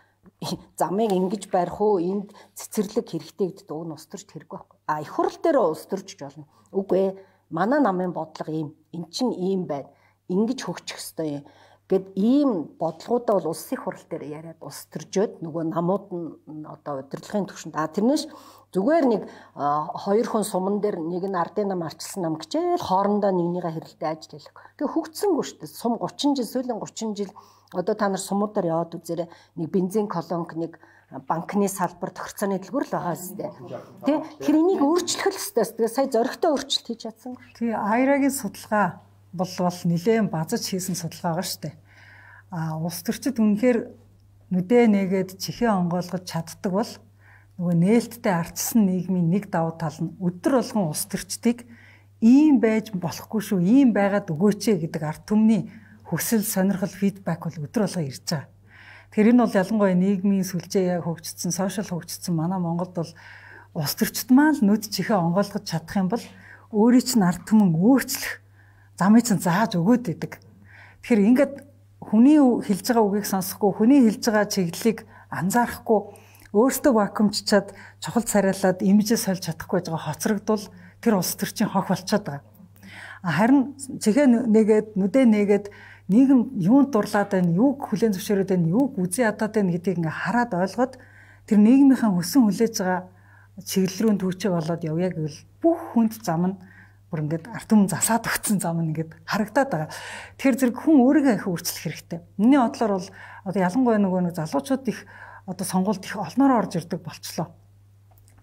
замыг ингэж барих уу, энд цэцэрлэг хэрэгтэй гэдэг уг нь улс төрч хэрэг байхгүй. А их хурл дээр улс төрчж болно. Үгүй ээ. Манай намын бодлого ийм. Эн чинь ийм байна. Ингэж хөгжих ёстой юм. Гэт ийм бодлогуудаа бол улсын хурал дээр яриад улс төржөөд нөгөө намууд нь одоо удирдлагын түвшинд а тэрнээс зүгээр нэг хоёр хүн суман дээр нэг нь ардын нам арчилсан нам гэжээл хоорондоо нэгнийгээ хэрэлдээ ажил хийх. Тэгээ хөгцсөнгөө шүү дээ. Сум thirty жил, сүүлийн thirty жил одоо та нар сумуудаар яваад үзээрэй. Нэг бензин колонк, нэг банкны салбар, тохирцооны дэлгүүр л байгаа зү. Тэ? Тэгэхээр энийг өөрчлөх л ёстой. Тэгээ сая зоригтой өөрчлөлт хийж чадсан. Тэгээ Айрагийн судалгаа бол бол нэлээд базаж хийсэн судалгаа байгаа шүү дээ. А улс төрчид үнэхээр нүдэ нэгээд чихээ онгойлгож чаддаг бол нөгөө нээлттэй арчсан нийгмийн нэг давуу тал нь өдөр болгон улс төрчдийг ийм байж болохгүй шүү, ийм байгаад өгөөч гэдэг ард түмний хүсэл, сонирхол, фидбек бол өдөр болгон ирж байгаа. Тэгэхээр энэ бол ялангуяа нийгмийн сүлжээ хөгжсөн, сошиал хөгжсөн манай Монголд бол улс төрчид маань л нүд чихээ онгойлгож чадах юм бол өөрийн чинь ард түмэн өөрчлөх замыг чинь зааж өгөөд идэг. Тэгэхээр ингээд хүний хэлж байгаа үгийг сонсохгүй, хүний хэлж байгаа чиглэлийг анзаарахгүй, өөртөө вакуумччаад чухал царайлаад имижээ сольж чадахгүй байгаа хоцрогдвол тэр улс төрчийн хог болчиход байгаа. Харин чихээ нэгээд, нүдэ нэгээд нийгэм юунд дурлаад байна, юуг хүлээн зөвшөөрөөд байна, юуг үзий ядаад байна гэдгийг ингээ хараад ойлгоод тэр нийгмийнхаа хүсэн хүлээж байгаа чиглэл рүү төвчөө болоод явъя гэвэл бүх хүнд зам нь бүр ингээд ард түмэн засаад өгсөн зам нь ингээд харагдаад байгаа. Тэгэхээр зэрэг хүн өөрийгөө их өөрчлөх хэрэгтэй. Миний бодлоор бол одоо ялангуяа нөгөө нэг залуучууд их одоо сонгуульд их олноор орж ирдэг болчлоо.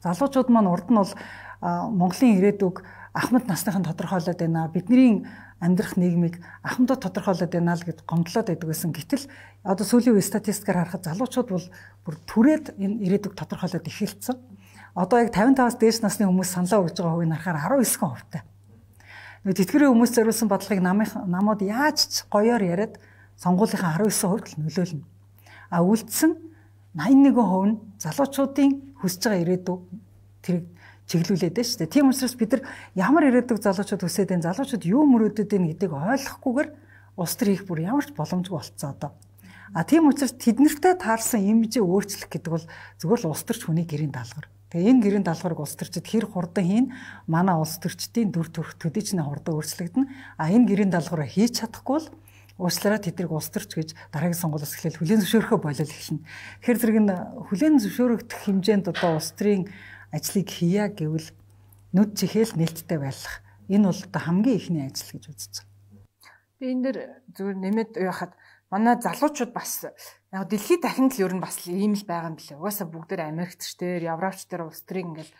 Залуучууд маань урд нь бол Монголын ирээдүг ахмад насныхан тодорхойлоод байна. Бидний амьдрах нийгмийг ахмадууд тодорхойлоод байна л гэд гомдлоод байдаг гэсэн. Гэтэл одоо сүүлийн үе статистикаар харахад залуучууд бол бүр түрээд энэ ирээдүг тодорхойлоод эхэлсэн. Одоо яг тавин таваас дээш насны хүмүүс саналаа өгж байгаа хувийг харахаар арван девять хувьтай. Нэг тэтгэврийн хүмүүс зориулсан бодлогыг намууд яаж ч гоёор яриад сонгуулийнхаа арван девять хувьд л нөлөөлнө. А үлдсэн восемьдесят one хувь нь залуучуудын хүсэж байгаа ирээдүй тэрийг чиглүүлээд байна шүү дээ. Тийм учраас бид нар ямар ирээдүг залуучууд хүсээд байна, залуучууд юу мөрөөдөд байна гэдгийг ойлгохгүйгээр улс төр хийх бүр ямар ч боломжгүй болцсон одоо. А тийм учраас тэднэртэй таарсан имижээ өөрчлөх гэдэг бол зөвхөн л улс төрч хүний гэрийн даалгавар. Тэгээ энэ гэрийн даалгаврыг улс төрчид хэр хурдан хийн манай улс төрчдийн дүр төрх төдийчний хурдан өөрчлөгдөн. А энэ гэрийн даалгавраа хийж чадахгүй бол уучлаарай тэднийг улс төрч гэж дараагийн сонгуулиас эхлээл хүлээн зөвшөөрөхөө болол эхэлнэ. Тэгэхээр зэрэг нь хүлээн зөвшөөрөгдөх хэмжээнд одоо улс төрийн ажлыг хийя гэвэл нүд чихээл нээлттэй байх. Энэ бол одоо хамгийн ихний ажил гэж үзэж байна. Би энэ дэр зүгээр нэмээд яхад манай залуучууд бас яг дэлхийд дахинд л ер нь бас ийм л байгаа юм билээ. Угаасаа бүгдээр Америкчдэр, Европчдэр улс төрийн ингээл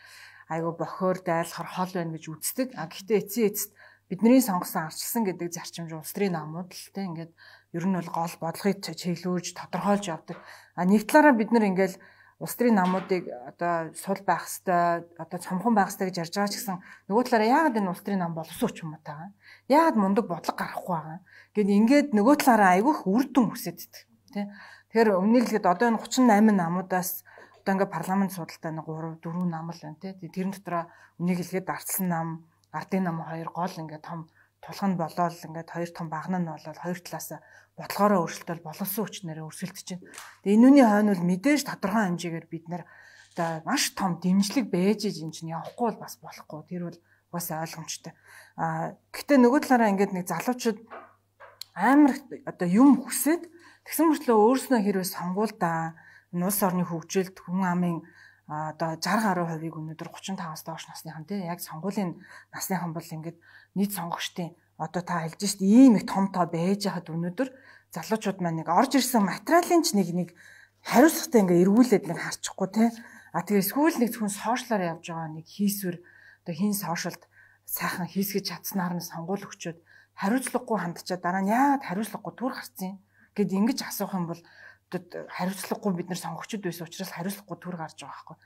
айгу бохоор дайлахар хол байна гэж үздэг. А гэхдээ эцсийн эцэст бидний сонгосон арчилсан гэдэг зарчимж улс төрийн намууд л те ингээд ер нь бол гол бодлогыг чиглүүлж тодорхойлж явдаг. А нэг талаараа бид нар ингээл улс төрийн намуудыг одоо сул байх хэвээр одоо цомхон байх хэвээр гэж ярьж байгаа ч гэсэн нөгөө талаараа яагаад энэ улс төрийн нам боловсруулч юм уу таа? Яагаад мундаг бодлого гаргахгүй байгаа? Гэт ингээд нөгөө талаараа айгүйх үр дүн хүсэж идэх тий. Тэгэхээр өмнө нь л одоо энэ thirty-eight намуудаас одоо ингээд парламент судалтай нэг three four нам л байна тий. Тэрэн дотроо үнийг хэлгээд ардсан нам, ардын нам хоёр гол ингээд том тулхан болоод ингээд хоёр том багна нь болоод хоёр талаас бодлогоороо өөрчлөлтөд боловсон хүчнэрээ өрсөлдөж байна. Тэгээ энүүний хойно бол мэдээж тодорхой хэмжээгээр бид нэр одоо маш том дэмжлэг бэж иж юм чинь явахгүй бол бас болохгүй. Тэр бол бас ойлгомжтой. А гэхдээ нөгөө талаараа ингээд нэг залуучууд амар одоо юм хүсээд тэгсэн мөртлөө өөрснөө хэрвээ сонгуульдаа улс орны хөгжилд хүн амын одоо sixty гаруй хувийг өнөөдөр thirty-five-аас доош насныхан тий яг сонгуулийн насныхан бол ингээд нийт сонгогчдын одоо та хэлж шít ийм их том тоо байж хаад өнөөдөр залуучууд маань нэг орж ирсэн материалын ч нэг нэг хариуцлагатай ингээд эргүүлээд нэг харчихгүй тий а тэгээ сүүл нэг зөвхөн сошиалаар явж байгаа нэг хийсвэр одоо хин сошиалд сайхан хийсгэж чадсанаар нь сонгуул өгчөөд хариуцлагагүй хандчаад дараа нь яагаад хариуцлагагүй түр гарцیں۔ Гэт ингэж асуух юм бол хариуцлагагүй бид нар сонгогчд байсан учраас хариуцлагагүй түр гарч байгаа байхгүй.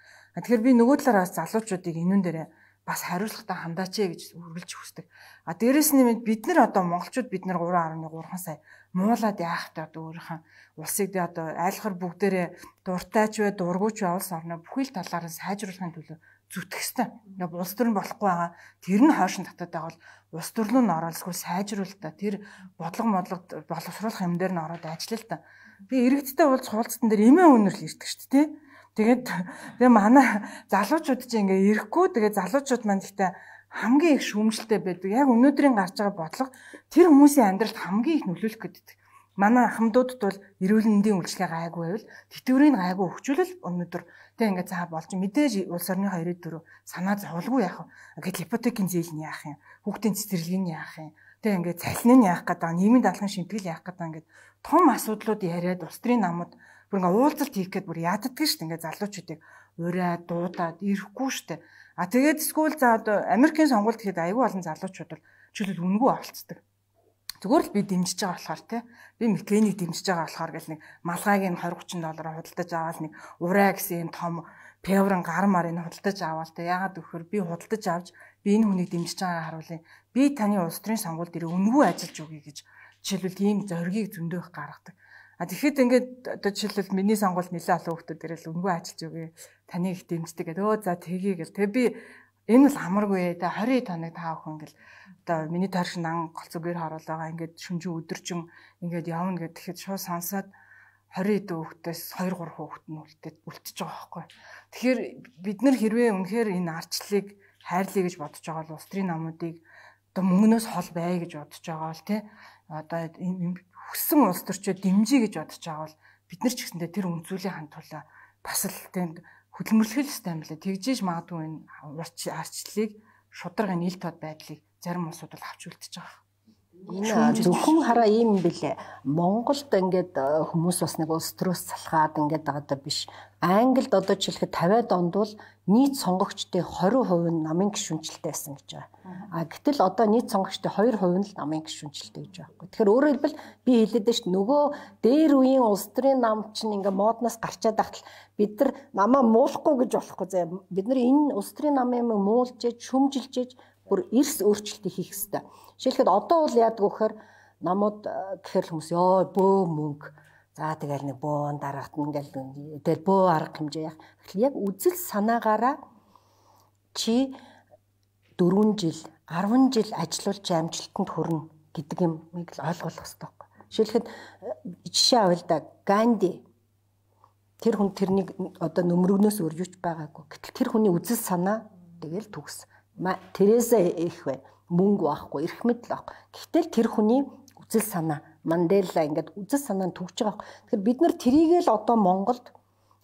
Тэгэхээр би нөгөө талаараас залуучуудыг энүүн дээрээ бас хариуцлагатай хандаач ээ гэж үргэлж хүсдэг. А дээрэс нь бид нар одоо монголчууд бид нар three point three сая муулаад яахтай одоо өөрийнхөө улсыг дэ одоо айлхар бүгдээрээ дуртайч бай дургуйч улс орноо бүхэл талаар нь сайжруулахын төлөө зүтгэх ёстой. Ингээ улс төр нь болохгүй байгаа. Тэр нь хойшин татаад байгаа бол улс төрлөө нь оролцгүй сайжруулалт та тэр бодлого модлого боловсруулах юм дээр нь ороод ажиллал та. Би иргэдтэй уулз хуулцсан дээр эмээ өнөрлө ирдэг шүү дээ. Тэгээд тэгээ манай залуучууд чинь ингээ ирэхгүй тэгээ залуучууд маань гэхдээ хамгийн их шүүмжлэлтэй байдаг. Яг өнөөдрийн гарч байгаа бодлого тэр хүмүүсийн амьдралд хамгийн их нөлөөлөх гэдэг. Манай ахмадуудад бол эрүүл мэндийн үйлчлэгээ гайгүй байвал тэтгэврийн гайгүй өгчүүлэл өнөөдөр тэг ингээ цаа болж мэдээж улс орны хоёрын дөрөв санаа зовлгүй яах вэ? Гэтэл ипотекийн зээл нь яах юм? Хүүхдийн цэцэрлэгийг нь яах юм? Тэг ингээ цалин нь яах гэдэг, нийгмийн даалгаврын шимтгэл яах гэдэг ингээ том асуудлууд яриад улс төрийн намууд бүр ингээ уулзалт хийх гээд бүр яддаг шүү дээ. Ингээ залуучуудыг ураад дуудаад ирэхгүй шүү дээ. А тэгээд скул за одоо Америкийн сонгуульд хэд аягүй олон залуучууд бол жишээлбэл үнгүй авалцдаг. Зүгээр л би дэмжиж байгаа болохоор тий би Маккенийг дэмжиж байгаа болохоор гэл нэг малгайг нь twenty thirty доллар худалдаж аваад нэг ураа гэсэн юм том певрын гар марыг худалдаж аваад тий ягаад гэхээр би худалдаж авч би энэ хүнийг дэмжиж байгаагаа харуулъя. Би таны улс төрийн сонгуульд ирээ үнгүй ажиллаж өгье гэж жишээлбэл ийм зоригийг зөндөөх гаргадаг. А тэгэхэд ингээд одоо жишээлбэл миний сонгуульд нэлээд олон хүмүүс ирэл үнгүй ажиллаж өгье. Таны их дэмждэг гэдэг. Өө за тгий гэл. Тэгээ би энэ бол амаргүй те twenty тоног таа өхөн гэл одоо миний тааршин ан голцоогоор харуул байгаа ингээд шүнжин өдөржин ингээд явна гэхэд тэгэхэд шууд сонсоод twenty дүүхтээс two three хүүхэд нь үлдээд үлдчихэж байгаа байхгүй. Тэгэхээр бид нар хэрвээ үнэхээр энэ арчлыг хайрлая гэж бодож байгаа бол улс төрийн намуудыг одоо мөнгнөөс хол бай гэж бодож байгаа бол тий одоо хүссэн улс төрчөө дэмжиж гэж бодож байгаа бол бид нар ч гэсэндээ тэр үнцүүлийн хандуулаа бас л тэнд хөдөлмөрлөх ёстой юм лээ. Тэгжээж магадгүй энэ арчлыг шударга нийл тод байдлыг зарим улсууд бол авч үлдчихэж байгаа. Энэ зөвхөн хараа ийм бэлээ. Монголд ингээд хүмүүс бас нэг улс төрөөс салхаад ингээд байгаа биш. Англид одоо жишээлбэл тавиад онд бол нийт сонгогчдын двадцать хувь нь намын гишүүнчлэлтэй байсан гэж байгаа. А гэтэл одоо нийт сонгогчдын two хувь нь л намын гишүүнчлэлтэй гэж байгаа. Тэгэхээр өөрөөр хэлбэл би хэлээд байна шүү дээ. Нөгөө дээр үеийн улс төрийн нам чинь ингээд модноос гарчаад ахтал бид нар намаа муулахгүй гэж болохгүй заа. Бид нар энэ улс төрийн намын юм муулжээж, шүмжилжээж бүр эрс өөрчлөлт хийх хэрэгтэй. Жишээлбэл одоо бол яадаг вөхөр намууд гэхэр хүмүүс ёо бөө мөнгө. За тэгэл нэг бөөн дараахт ингээл тэгэл бөө арга хэмжээ яах. Тэгэхээр яг үзэл санаагаараа чи дөрвөн жил, арван жил ажиллуулж амжилтанд хүрнэ гэдэг юмыг л ойлгох хэрэгтэй байхгүй. Жишээлбэл жишээ авъя л да. Ганди тэр хүн тэрнийг одоо нөмрөгнөөс өөр юуч байгаагүй. Гэтэл тэр хүний үзэл санаа тэгэл төгс. Тереза их бай. Мөнгө байхгүй, эрх мэдэл байхгүй. Гэхдээ тэр хүний үзэл санаа, Мандела ингээд үзэл санаа нь төгж байгаа. Тэгэхээр бид нар тэрийг л одоо Монголд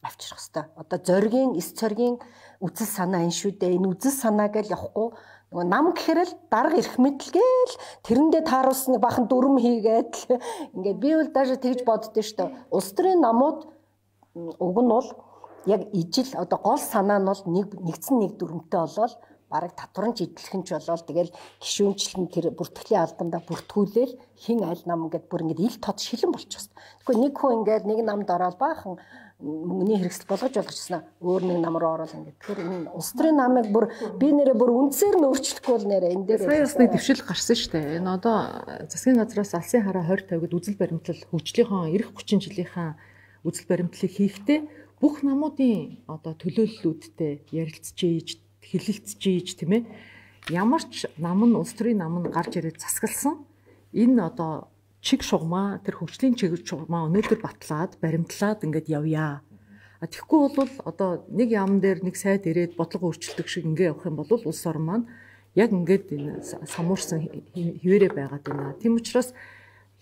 авчрах хэрэгтэй. Одоо зоригийн, эс цоргийн үзэл санаа энэ шүү дээ. Энэ үзэл санааг л явахгүй. Нөгөө нам гэхэр л дарга эрх мэдэлгээл тэрэндээ тааруулсан бахан дүрм хийгээд ингээд би бол даже тэгж боддөө шүү дээ. Улс төрийн намууд уг нь бол яг ижил одоо гол санаа нь бол нэг нэгдсэн нэг дүрмтэй болол бараг татварч идэлхэн ч болол тэгэл гişүүнчлэн тэр бүртгэлийн албандаа бүртгүүлээл хин аль нам ингээд бүр ингээд ил тод шилэн болчихсон. Тэгэхгүй нэг хүн ингээд нэг намд ороод баахан мөнгөний хэрэгсэл болгож болгочихснаа өөр нэг нам руу ороод ингээд тэгэхээр энэ улс төрийн намыг бүр би нэрээ бүр үндсээр нь өөрчлөхгүй бол нэрээ энэ дээр сая бас нэг дэвшил гарсан шүү дээ. Энэ одоо засгийн газраас алсын хараа тwenty тавьд үзэл баримтлал хөгжлийнхаа эх thirty жилийнхаа үзэл баримтлалыг хийхдээ бүх намуудын одоо төлөөллүүдтэй ярилцж хэлэлцэж тийм ээ ямар ч нам нь улс төрийн нам нь гарч ирээд засагласан энэ одоо чиг шугамаа тэр хөгжлийн чиг шугамаа өнөөдөр батлаад баримтлаад ингээд явъя. А тэгэхгүй бол одоо нэг яам дээр нэг сайд ирээд бодлого өөрчлөлтөг шиг ингээд явах юм бол улс орн маань яг ингээд энэ самуурсан хിവэрэ байгаад байна. Тийм учраас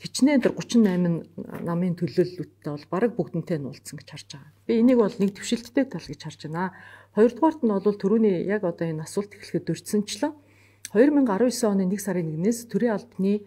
хичнээн тэр thirty-eight намын төлөөллөлттэй бол бараг бүгднтэй нь уулзсан гэж харж байгаа. Би энийг бол нэг төвшөлттэй тал гэж харж байна. Хоёрдугаарт нь бол түрүүний яг одоо энэ асуулт эхлэхэд дурдсанчлаа. twenty nineteen оны нэг сарын нэгнээс төрийн албаны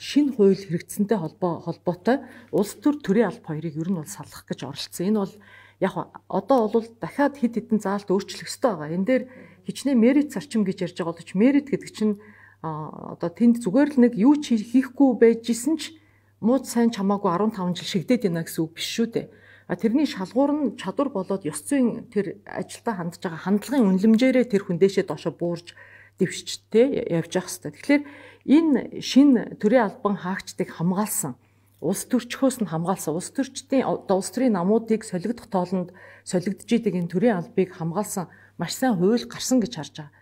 шинэ хууль хэрэгжсэнтэй холбоо холбоотой улс төр төрийн алба хоёрыг ер нь бол салгах гэж оролцсон. Энэ бол яг одоо бол дахиад хэд хэдэн заалт өөрчлөх ёстой байгаа. Энэ дээр хичнээн мерит зарчим гэж ярьж байгаа боловч мерит гэдэг чинь одоо тэнд зүгээр л нэг юу ч хийхгүй байжсэн ч мууд сайн чамаагүй fifteen жил шигдээд байна гэсэн үг биш шүү дээ. А тэрний шалгуур нь чадвар болоод ёс зүйн тэр ажилдаа хандж байгаа хандлагын үнэлэмжээрээ тэр хүндээшээ доошо буурж дэвшчтэй явж явах хэрэгтэй. Тэгэхээр энэ шинэ төрийн албан хаагчдыг хамгаалсан улс төрчхөөс нь хамгаалсан улс төрчдийн улс төрийн намуудыг солигдох тоолонд солигдож идэг энэ төрийн албыг хамгаалсан маш сайн хууль гарсан гэж харж байгаа.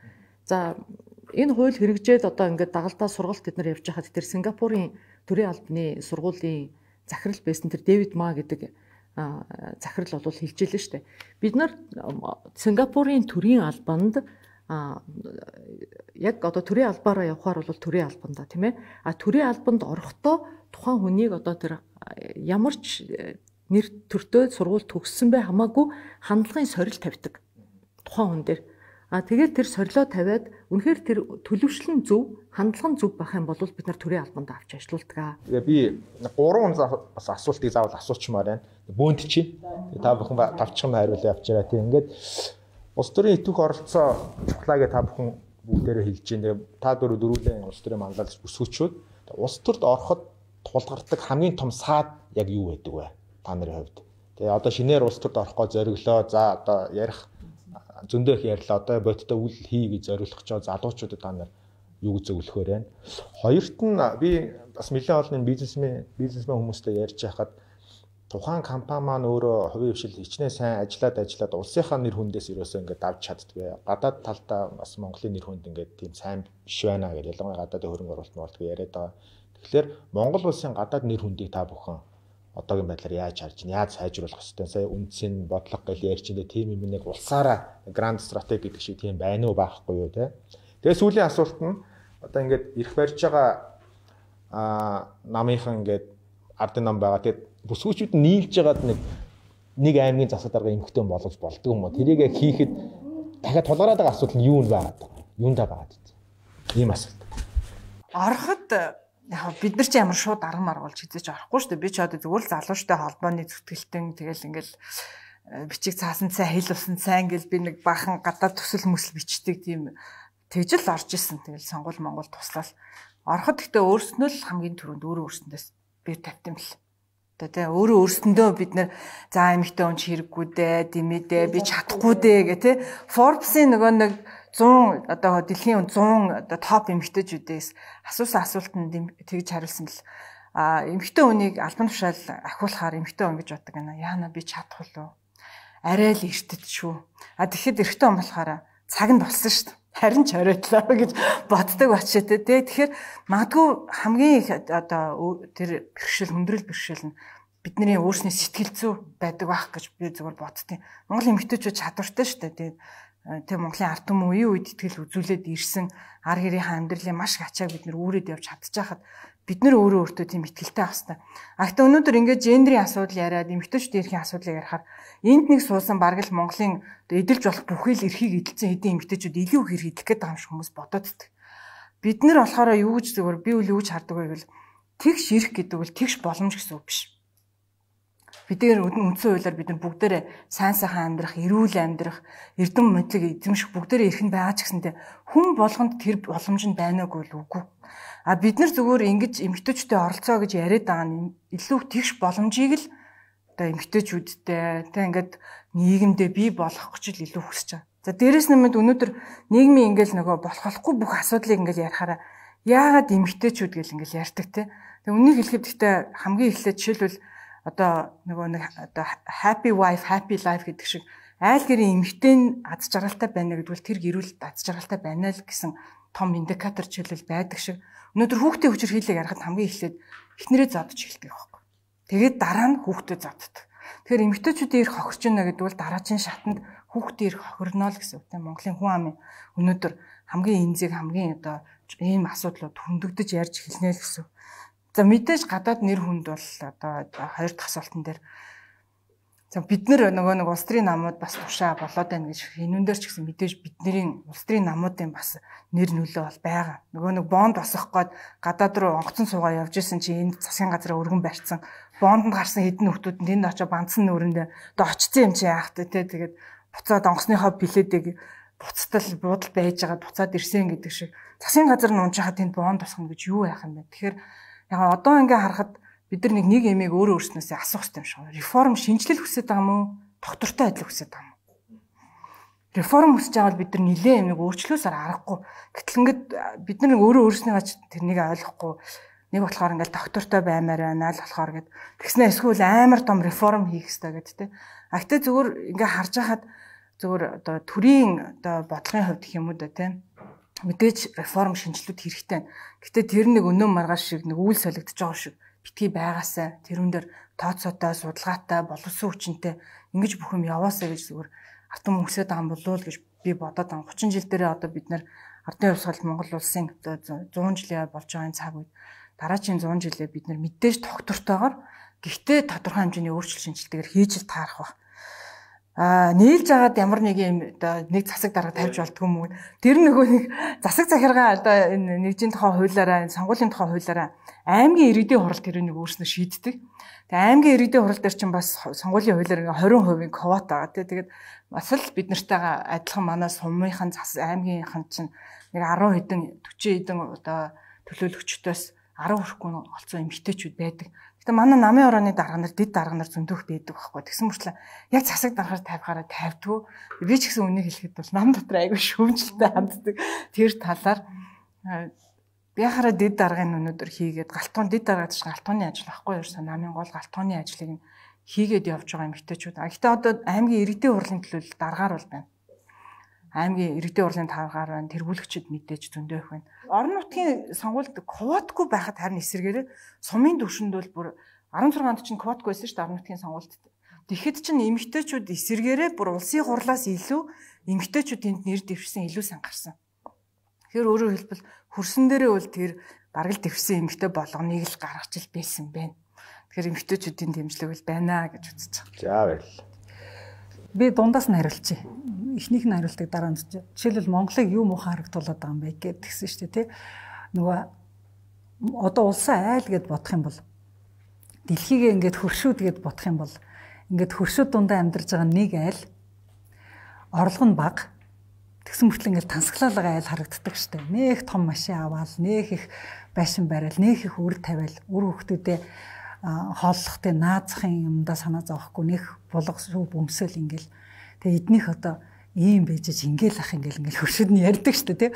За энэ хууль хэрэгжээд одоо ингээд дагалдаа сургалт бид нар явж байхад тэр Сингапурын төрийн албаны сургуулийн захирал байсан тэр Дэвид Ма гэдэг захирал бол хэлж илээ шүү дээ. Бид нар Сингапурын төрийн албанд яг одоо төрийн албаараа явхаар бол төрийн албанда тийм ээ. А төрийн албанд орохдоо тухайн хүнийг одоо тэр ямар ч нэр төртөө сургууль төгссөн бай хамаагүй хандлагын сорил тавьдаг тухайн хүн дээр. А тэгээд тэр сорилоо тавиад үнэхээр тэр төлөвшлэн зөв, хандлага нь зөв байх юм бол бид нар төрийн албанд авч ажиллаулдаг. Тэгээ би гурван бас асуултыг заавал асуучмаар байна. Бөөнд чи та бүхэн тавчхан хариулаа явчаарай тийм. Ингээд улс төрийн итвэх оролцоо чухлаагээ та бүхэн бүгдээрээ хэлж байна. Та дөрөв дөрүүлэн улс төрийн манлайлалч бүсгүүчүүд улс төрд ороход тулгардаг хамгийн том саад яг юу байдаг вэ? Та нарын хувьд. Тэгээ одоо шинээр улс төрд орохгоо зориглоо. За одоо ярих зөндөх ярьлаа одоо бодтой үл хий гэж зориулах ч залуучуудад та нар юу гэж зөвлөхөөр байна. Хоёрт нь би бас нэлээд олон бизнесмен бизнесмен хүмүүстэй ярьж байхад тухайн компани маань өөрөө хувийн хвшил хичнээн сайн ажиллаад ажиллаад улсынхаа нэр хүндээс ерөөсөө ингээд давж чаддгүй. Гадаад талдаа бас Монголын нэр хүнд ингээд тийм сайн биш байна гэж ялангуяа гадаадын хөрөнгө оруулалт мөрөлт яриад байгаа. Тэгэхээр Монгол улсын гадаад нэр хүндийг та бүхэн одоогийн байдлаар яаж харж байна? Яаж сайжруулах ёстой? Сая үндсийн бодлого гэж ярьж байна. Тим юм нэг улсаараа гранд стратеги гэдэг шиг тийм байна уу байхгүй юу те? Тэгээ сүүлийн асуулт нь одоо ингээд ирэх барьж байгаа аа намынхан ингээд ардын нам байгаа. Тэгээд бүсгүүчүүд нийлж байгаад нэг нэг аймгийн засаг дарга эмхтэн болгож болдгоо юм уу? Тэрийг хийхэд дахиад тулгараад байгаа асуудал нь юу вэ байгаад? Юундаа байгаад вэ? Ийм асуулт. Ороход яг бид нар ч ямар шууд арга маргуулж хизэж орохгүй шүү дээ. Би ч одоо зүгээр л залуучтай холбооны зүтгэлтэн тэгэл ингээл бичиг цаасан цай хэл усан цай ингээл би нэг бахан гадаад төсөл мөсөл бичдэг тийм тэгж л орж исэн. Тэгэл сонгуул Монгол туслал ороход гэхдээ өөрснөө л хамгийн түрүүнд өөрөө өөрсөндөөс би тавьтсан бэл. Одоо тий өөрөө өөрсөндөө бид нэр за эмэгтэй хүн хэрэггүй дээ, димэдээ би чадахгүй дээ гэх тий Forbes-ийн нөгөө нэг зуун одоо дэлхийн зуун одоо топ эмэгтэйчүүдээс асуусан асуултанд тэгж хариулсан л а эмэгтэй хүнийг албан тушаал ахиулахаар эмэгтэй хүн гэж боддог гэнэ. Яана би чадах уу? Арай л эртэд шүү. А тэгэхэд эрэгтэй хүн болохоор цаг нь болсон шүү дээ. Харин ч оройтлоо гэж боддог бачаа тэ. Тэгэхээр магадгүй хамгийн их одоо тэр бэрхшээл хүндрэл бэрхшээл нь бидний өөрсний сэтгэл зүй байдаг байх гэж би зөвхөн боддتي. Монголын эмэгтэйчүүд чадвартай шүү дээ. Тэгээ Монголын ард түмэн үеийн үед итгэл үзүүлээд ирсэн ар гэрийнхаа амьдралын маш их ачааг бид нэр үүрээд явж чадчихахад бид нэр өөрөө өөртөө тийм итгэлтэй байх хэрэгтэй. А гэхдээ өнөөдөр ингээд гендрийн асуудал яриад эмэгтэйчүүдийн эрхийн асуудлыг ярихаар энд нэг суусан бараг л Монголын эдэлж болох бүхэл эрхийг эдэлсэн хэдийн эмэгтэйчүүд илүү их эрх эдэх гэдэг юм шиг хүмүүс бодоод байдаг. Бид нэр болохоор юу гэж зөвөр би үл юу гэж хардаг вэ гэвэл тэгш эрх гэдэг бол тэгш боломж гэсэн үг биш. Бидний үндсэн хуулиар бид нар бүгдээрээ сайн сайхан амьдрах, эрүүл амьдрах, эрдэм мэдлэг эзэмших бүгдээрээ эрх нь байгаа ч гэсэнтэй хүн болгонд тэр боломж нь байнаагүй л үгүй. А бид нар зүгээр ингэж эмэгтэйчүүдтэй оролцоо гэж яриад байгаа нь илүү тэгш боломжийг л одоо эмэгтэйчүүдтэй тэг ингээд нийгэмдээ бий болгох гэж илүү хүсэж байгаа. За дээрэс нэмээд өнөөдөр нийгмийн ингээл нөгөө болох болохгүй бүх асуудлыг ингээл ярихаараа яагаад эмэгтэйчүүд гэл ингээл ярьдаг те. Тэг үнийг хэлэхэд гэхдээ хамгийн эхлээд жишээлбэл одоо нөгөө нэг одоо happy wife happy life гэдэг шиг айл гэрийн эмэгтэй нь аз жаргалтай байна гэдвэл тэр гэрүүл аз жаргалтай байна л гэсэн том индикатор жишээлбэл байдаг шиг өнөөдөр хүүхдийн хүчээр хийлээ ярахад хамгийн эхлээд эхнэрээ зодож эхэлдэг байхгүй. Тэгээд дараа нь хүүхдээ зоддог. Тэгэхээр эмэгтэйчүүдийн эрх хохирч байна гэдэг бол дараагийн шатанд хүүхдийн эрх хохирно л гэсэн үг тийм Монголын хүн амын өнөөдөр хамгийн энзэг хамгийн одоо ийм асуудлууд хөндөгдөж ярьж эхэлнэ л гэсэн. За мэдээж гадаад нэр хүнд бол одоо хоёр дахь асуултан дээр за бид нар нөгөө нэг улс төрийн намууд бас тушаа болоод байна гэж энүүн дээр ч гэсэн мэдээж бидний улс төрийн намуудын бас нэр нөлөө бол байгаа. Нөгөө нэг бонд босгох гээд гадаад руу онгоцон суугаа явж исэн чи энд засгийн газраа өргөн барьсан бондонд гарсан хэдэн хүмүүс тэнд очиж банцсан нүүрэндээ одоо очсон юм чи яах вэ те тэгээд буцаад онгоцныхоо билетийг буцтал буудал байж байгаа буцаад ирсэн гэдэг шиг засгийн газар нь унжихад тэнд бонд босгоно гэж юу яах юм бэ? Тэгэхээр яг одоо ингээ харахад бид нар нэг нэг эмээг өөрөө өөрснөөсөө асуух хэрэгтэй юм шиг. Реформ шинжилэл хүсэж байгаа мó? Доктортой адил хүсэж байгаа мó? Реформ хүсэж байгаа бол бид нар нэлээд юм нэг өөрчлөөсөр аргагүй. Гэтэл ингээд бид нар өөрөө өөрснийгаа тэрнийг ойлгохгүй нэг болохоор ингээл доктортой баймаар байна л болохоор гэд тэгснэ эсвэл амар том реформ хийх хэрэгтэй гэд тэ. А гэтээ зүгээр ингээ харж байхад зүгээр одоо төрийн одоо бодлогын хувьд гэх юм уу да тэ. Мэдээж реформ шинжилүүд хэрэгтэй. Гэтэ тэр нэг өнөө маргааш шиг нэг үйл солигдож байгаа шиг битгий байгаасаа тэрүүн дээр тооцоотой, судалгаатай, боловсон хүчинтэй ингэж бүх юм яваасаа гэж зүгээр артан мөнгөсөд байгаа юм болов уу гэж би бодоод байгаа. гучин жил дээрээ одоо бид нэр ардын хувьсгал Монгол улсын зуун жилийн болж байгаа цаг үед дараагийн зуун жилээ бид нэр мэдээж тогтвортойгоор гэхдээ тодорхой хэмжээний өөрчлөлт шинжилтэгээр хийж л таарах баг. А нийлж агаад ямар нэг юм оо нэг засаг дарга тавьж болдгоо мөн тэр нөгөө нэг засаг захиргаа одоо энэ нэгжийн тухай хуулиараа сонгуулийн тухай хуулиараа аймгийн иргэдийн хурал тэр нэг өөрснөө шийддэг. Тэгээ аймгийн иргэдийн хурал дээр чинь бас сонгуулийн хуулиар двадцать хувийн квота байгаа тий. Тэгээд бас л бид нартайгаа адилхан манай сумынхан зас аймгийнхан чинь нэг десять хэдэн forty хэдэн одоо төлөөлөгчдөөс ten хүрэхгүй олцсон эмэгтэйчүүд байдаг. Гэтэ манай намын орооны дарга нар дэд дарга нар зөндөх байдаг байхгүй. Тэгсэн мөрчлөө яг засаг даргаар тавихаараа тавьдгүй. Би ч гэсэн үнийг хэлэхэд бол нам дотор айгүй шүүмжлэлтэй ханддаг. Тэр талаар би хараа дэд даргын өнөөдөр хийгээд галтуун дэд даргаад ч галтууны ажил байхгүй ерөөсөө намын гол галтууны ажлыг хийгээд явж байгаа эмэгтэйчүүд. А гэтэ одоо аймгийн иргэдийн хурлын төлөөлөл даргаар бол байна. Аймгийн иргэдийн хурлын даргаар байна. Тэргүүлэгчид мэдээж зөндөө их байна. Орон нутгийн сонгуульд квотгүй байхад харин эсэргээрээ сумын түвшинд бол бүр sixteen онд чинь квотгүй байсан шүү дээ орон нутгийн сонгуульд. Тэгэхэд чинь эмэгтэйчүүд эсэргээрээ бүр улсын хурлаас илүү эмэгтэйчүүд тэнд нэр дэвшсэн илүү сан гарсан. Тэгэхээр өөрөөр хэлбэл хөрсөн дээрээ бол тэр бараг л дэвшсэн эмэгтэй болгоныг л гаргаж ил байсан байна. Тэгэхээр эмэгтэйчүүдийн дэмжлэг бол байна гэж үзэж байгаа. За баярлалаа. Би дундаас нь хариулчих. Эхнийх нь хариултыг дараа нь жишээлбэл Монголыг юу муухай харагдуулаад байгаа юм бэ гэж тэгсэн шүү дээ тий. Нөгөө одоо улсаа айл гэд бодох юм бол дэлхийгээ ингээд хөршүүд гэд бодох юм бол ингээд хөршүүд дундаа амьдарч байгаа нэг айл орлого нь бага. Тэгсэн мөртлөө ингээд тансаглалгаа айл харагддаг штэ. Нэх том машин аваал, нэх их байшин барайл, нэх их үр тавиал, үр хөвгтүүдээ хооллохтой наазахын юмдаа санаа зовхгүй нэх булга шүү бөмсөл ингээл. Тэгээ эднийх одоо ийм байж ингээл ах ингээл ингээл хөршөд нь ярьдаг штэ тий.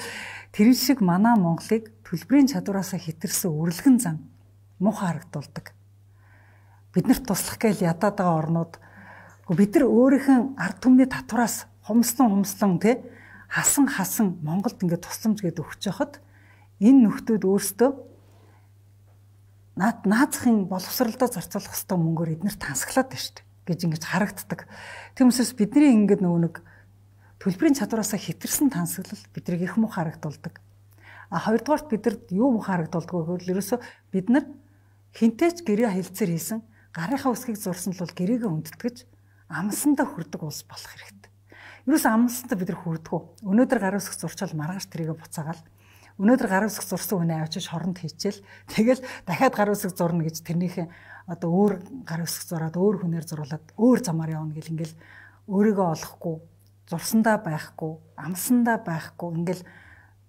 Тэр шиг манай Монголыг төлбөрийн чадвараасаа хэтэрсэн үрэлгэн зам муухай харагдуулдаг. Биднэрт туслах гээл ядаад байгаа орнууд бид нар өөрийнх нь ард түмний татвараас хумслан хумслан тий хасан хасан Монголд ингээд тусламж гээд өгч яхад энэ нөхдүүд өөрсдөө наад наазахын боловсролдоо зарцуулах хэвээр мөнгөөр эднэр тансаглаад байна шүү дээ гэж ингэж харагддаг. Тиймээс бидний ингээд нөгөө нэг төлбөрийн чадвараасаа хэтэрсэн тансаглал бидрийг их муу харагдуулдаг. А хоёрдугаарт бидэрт юу муу харагдуулдаг вэ гэвэл ерөөсөө бид нар хинтээч гэрээ хэлцээр хийсэн гарынхаа үсгийг зурсан л бол гэрээгээ өндөтгэж амсандаа хүрдэг улс болох хэрэгтэй. Юус амсандаа бид нар хүрдэггүй. Өнөөдөр гарын үсэг зурчаал маргааш тэрийгэ буцаагаал. Өнөөдөр гарын үсэг зурсан хүнээ авчиж хоронд хийчихэл тэгэл дахиад гарын үсэг зурна гэж тэрнийхээ одоо өөр гарын үсэг зураад өөр хүнээр зуруулаад өөр замаар явна гэл ингээл өөрийгөө олохгүй, зурсандаа байхгүй, амсандаа байхгүй ингээл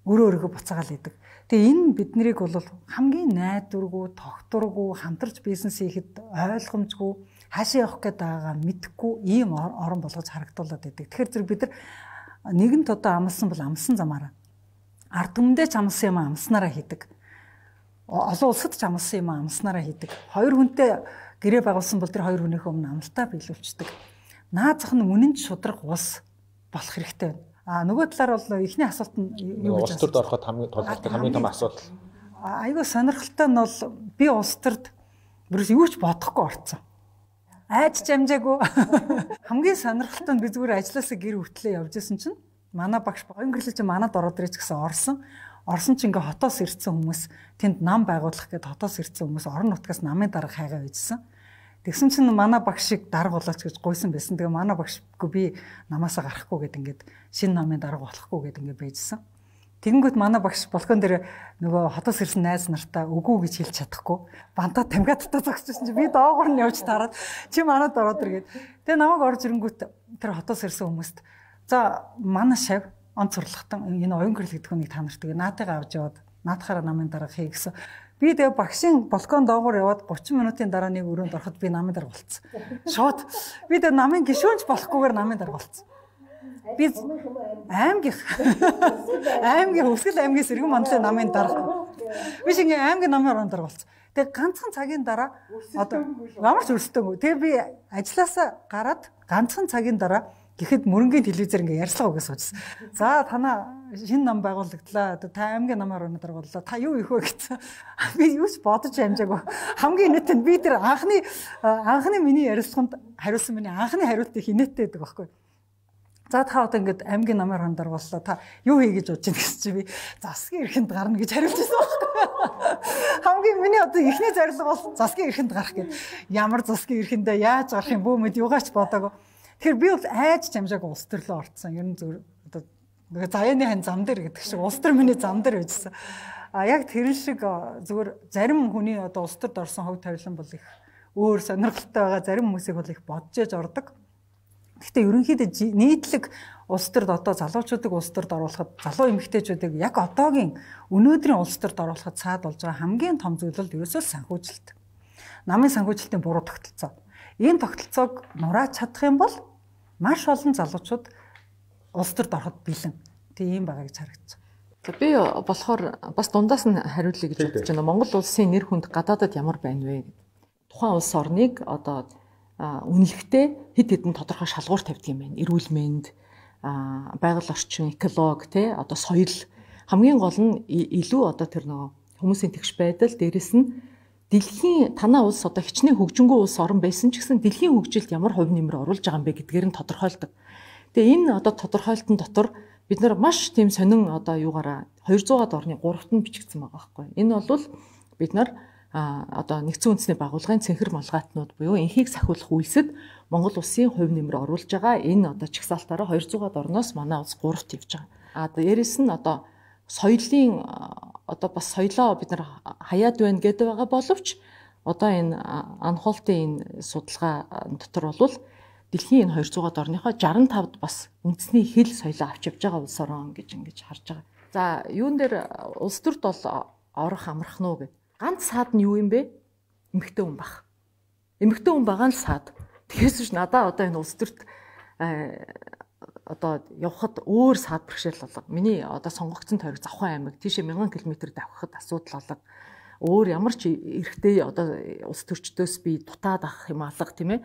өөрөө өөрийгөө буцаагаал идэг. Тэгээ энэ биднийг бол хамгийн найдваргүй, тогтворгүй, хамтарч бизнес хийхэд ойлгомжгүй хаашаа явах гээд байгаагаа мэдэхгүй ийм орон болгож харагдуулаад байдаг. Тэгэхээр зэрэг бид нар нэгэнт одоо амлсан бол амлсан замаараа ард түмэндээ ч амлсан юм амснараа хийдэг. Олон улсад ч амлсан юм амснараа хийдэг. Хоёр хүнтэй гэрээ байгуулсан бол тэр хоёр хүнийхээ өмнө амлалтаа биелүүлчихдэг. Наазах нь үнэн ч шудраг ус болох хэрэгтэй байна. А нөгөө талаар бол эхний асуулт нь юу гэж улс төрд ороход хамгийн толгойтой хамгийн том асуудал. Айгүй сонирхолтой нь бол би улс төрд бүрээс юу ч бодохгүй орцсон. Айж жамжаагүй. Хамгийн сонирхолтой нь би зүгээр ажилласаа гэр хүртлээ явж исэн чинь манай багш гонгөрлөж манад ороод ирэх гэсэн орсон. Орсон чинь ингээ хотоос ирсэн хүмүүс тэнд нам байгуулах гээд хотоос ирсэн хүмүүс орон нутгаас намын дарга хайгаа үйжсэн. Тэгсэн чинь манай багш шиг дарга болооч гэж гуйсан байсан. Тэгээ манай багшгүй би намаасаа гарахгүй гэд ингээд шинэ намын дарга болохгүй гэд ингээд байжсэн. Тэгэнгүүт манай багш балкон дээр нөгөө хотоос ирсэн найз нартаа үгүй гэж хэлж чадахгүй. Бантаа тамгиадтай зогсчихсон чинь би доогоор нь явж тараад чи манад ороод иргээд. Тэгээ намайг орж ирэнгүүт тэр хотоос ирсэн хүмүүст за манай шав онцорлохтон энэ оюун гэрэл гэдэг хүнийг та нарт тэгээ наатайгаа авч яваад наатахаараа намын дарга хий гэсэн. Би тэгээ багшийн балкон доогоор яваад гучин минутын дараа нэг өрөөнд ороход би намын дарга болцсон. Шууд би тэгээ намын гишүүнч болохгүйгээр намын дарга болцсон. Би аймгийн аймгийн Өвсгөл аймгийн сэргэн мандлын намын дарга. Би шиг аймгийн намын дарга болцсон. Тэгээ ганцхан цагийн дараа одоо ямар ч өрсдөөгүй. Тэгээ би ажилласаа гараад ганцхан цагийн дараа гэхэд мөрөнгийн телевизээр ингээ ярьцлага өгөөс суучихсан. За танаа шинэ нам байгуулагдлаа. Та аймгийн намаар өнөдөр боллоо. Та юу их вэ гэсэн. Би юу ч бодож амжаагүй. Хамгийн инээдтэй би тэр анхны анхны миний ярилцлаганд хариулсан миний анхны хариултыг инээдтэй байдаг байхгүй. За та одоо ингээд аймгийн намаар өнөдөр боллоо. Та юу хий гэж бодож байна гэсэн чи би засгийн эрхэнд гарна гэж хариулж байсан байхгүй. Хамгийн миний одоо ихний зорилго бол засгийн эрхэнд гарах гэдэг. Ямар засгийн эрхэндээ яаж гарах юм бөө мэд югаач бодоагүй. Тэгэхээр би бол айж жамжааг улс төрлөө орцсон. Ер нь зөв одоо нөгөө заяаны хань зам дээр гэдэг шиг улс төр миний зам дээр байжсан. А яг тэр шиг зүгээр зарим хүний одоо улс төрд орсон хөв тавилан бол их өөр сонирхолтой байгаа. Зарим хүмүүсийг бол их бодож яж ордог. Гэхдээ ерөнхийдөө нийтлэг улс төрд одоо залуучуудыг улс төрд оруулахад залуу эмэгтэйчүүдийг яг одоогийн өнөөдрийн улс төрд оруулахад цаад болж байгаа хамгийн том зүйл бол ерөөсөө санхүүжилт. Намын санхүүжилтийн буруу тогтолцоо. Ийм тогтолцоог нурааж чадах юм бол маш олон залуучууд улс төрд ороход бэлэн. Тийм байгаа гэж харагдсан. За би болохоор бас дундаас нь хариулъя гэж бодож байна. Монгол улсын нэр хүнд гадаадад ямар байна вэ? Тухайн улс орныг одоо үнэлэхдээ хэд хэдэн тодорхой шалгуур тавьдаг юм байна. Эрүүл мэнд, байгаль орчин, эколог, тэ одоо соёл хамгийн гол нь илүү одоо тэр нөгөө хүмүүсийн тэгш байдал дээрэс нь дэлхийн танаа улс одоо хичнээн хөгжингүү улс орн байсан ч гэсэн дэлхийн хөгжилд ямар хувь нэмэр оруулж байгаа юм бэ гэдгээр нь тодорхойлдог. Тэгээ энэ одоо тодорхойлтын дотор бид нар маш тийм сонин одоо юугаараа хоёрзуугаад орны гуравт нь бичигдсэн байгаа байхгүй. Энэ бол бид нар одоо нэгдсэн үндэсний байгууллагын цэнхэр малгайтнууд буюу энхийг сахиулах үйлсэд Монгол улсын хувь нэмэр оруулж байгаа энэ одоо чагсаалтаараа хоёрзуугаад орноос манай улс гуравт явж байгаа. А дээрэс нь одоо соёлын одоо бас соёлоо бид нар хаяад байна гэдэг байгаа боловч одоо энэ анхуултын энэ судалгаа дотор бол дэлхийн энэ двухсад орныхоо шестьдесят пять-д бас үндэсний хэл соёлоо авч явж байгаа улс орон гэж ингэж харж байгаа. За юун дээр улс төрд бол орох амрах нь уу гэд. Ганц саад нь юу юм бэ? Эмэгтэй хүн баг. Эмэгтэй хүн байгаа нь саад. Тэгээс ч надаа одоо энэ улс төрд одоо явхад өөр саад бэрхшээл болго. Миний одоо сонгогдсон тойрог Завхан аймаг тийшээ мянган километр давхад асуудал болго. Өөр ямар ч эрэгтэй одоо улс төрчдөөс би дутаад авах юм алга тийм ээ.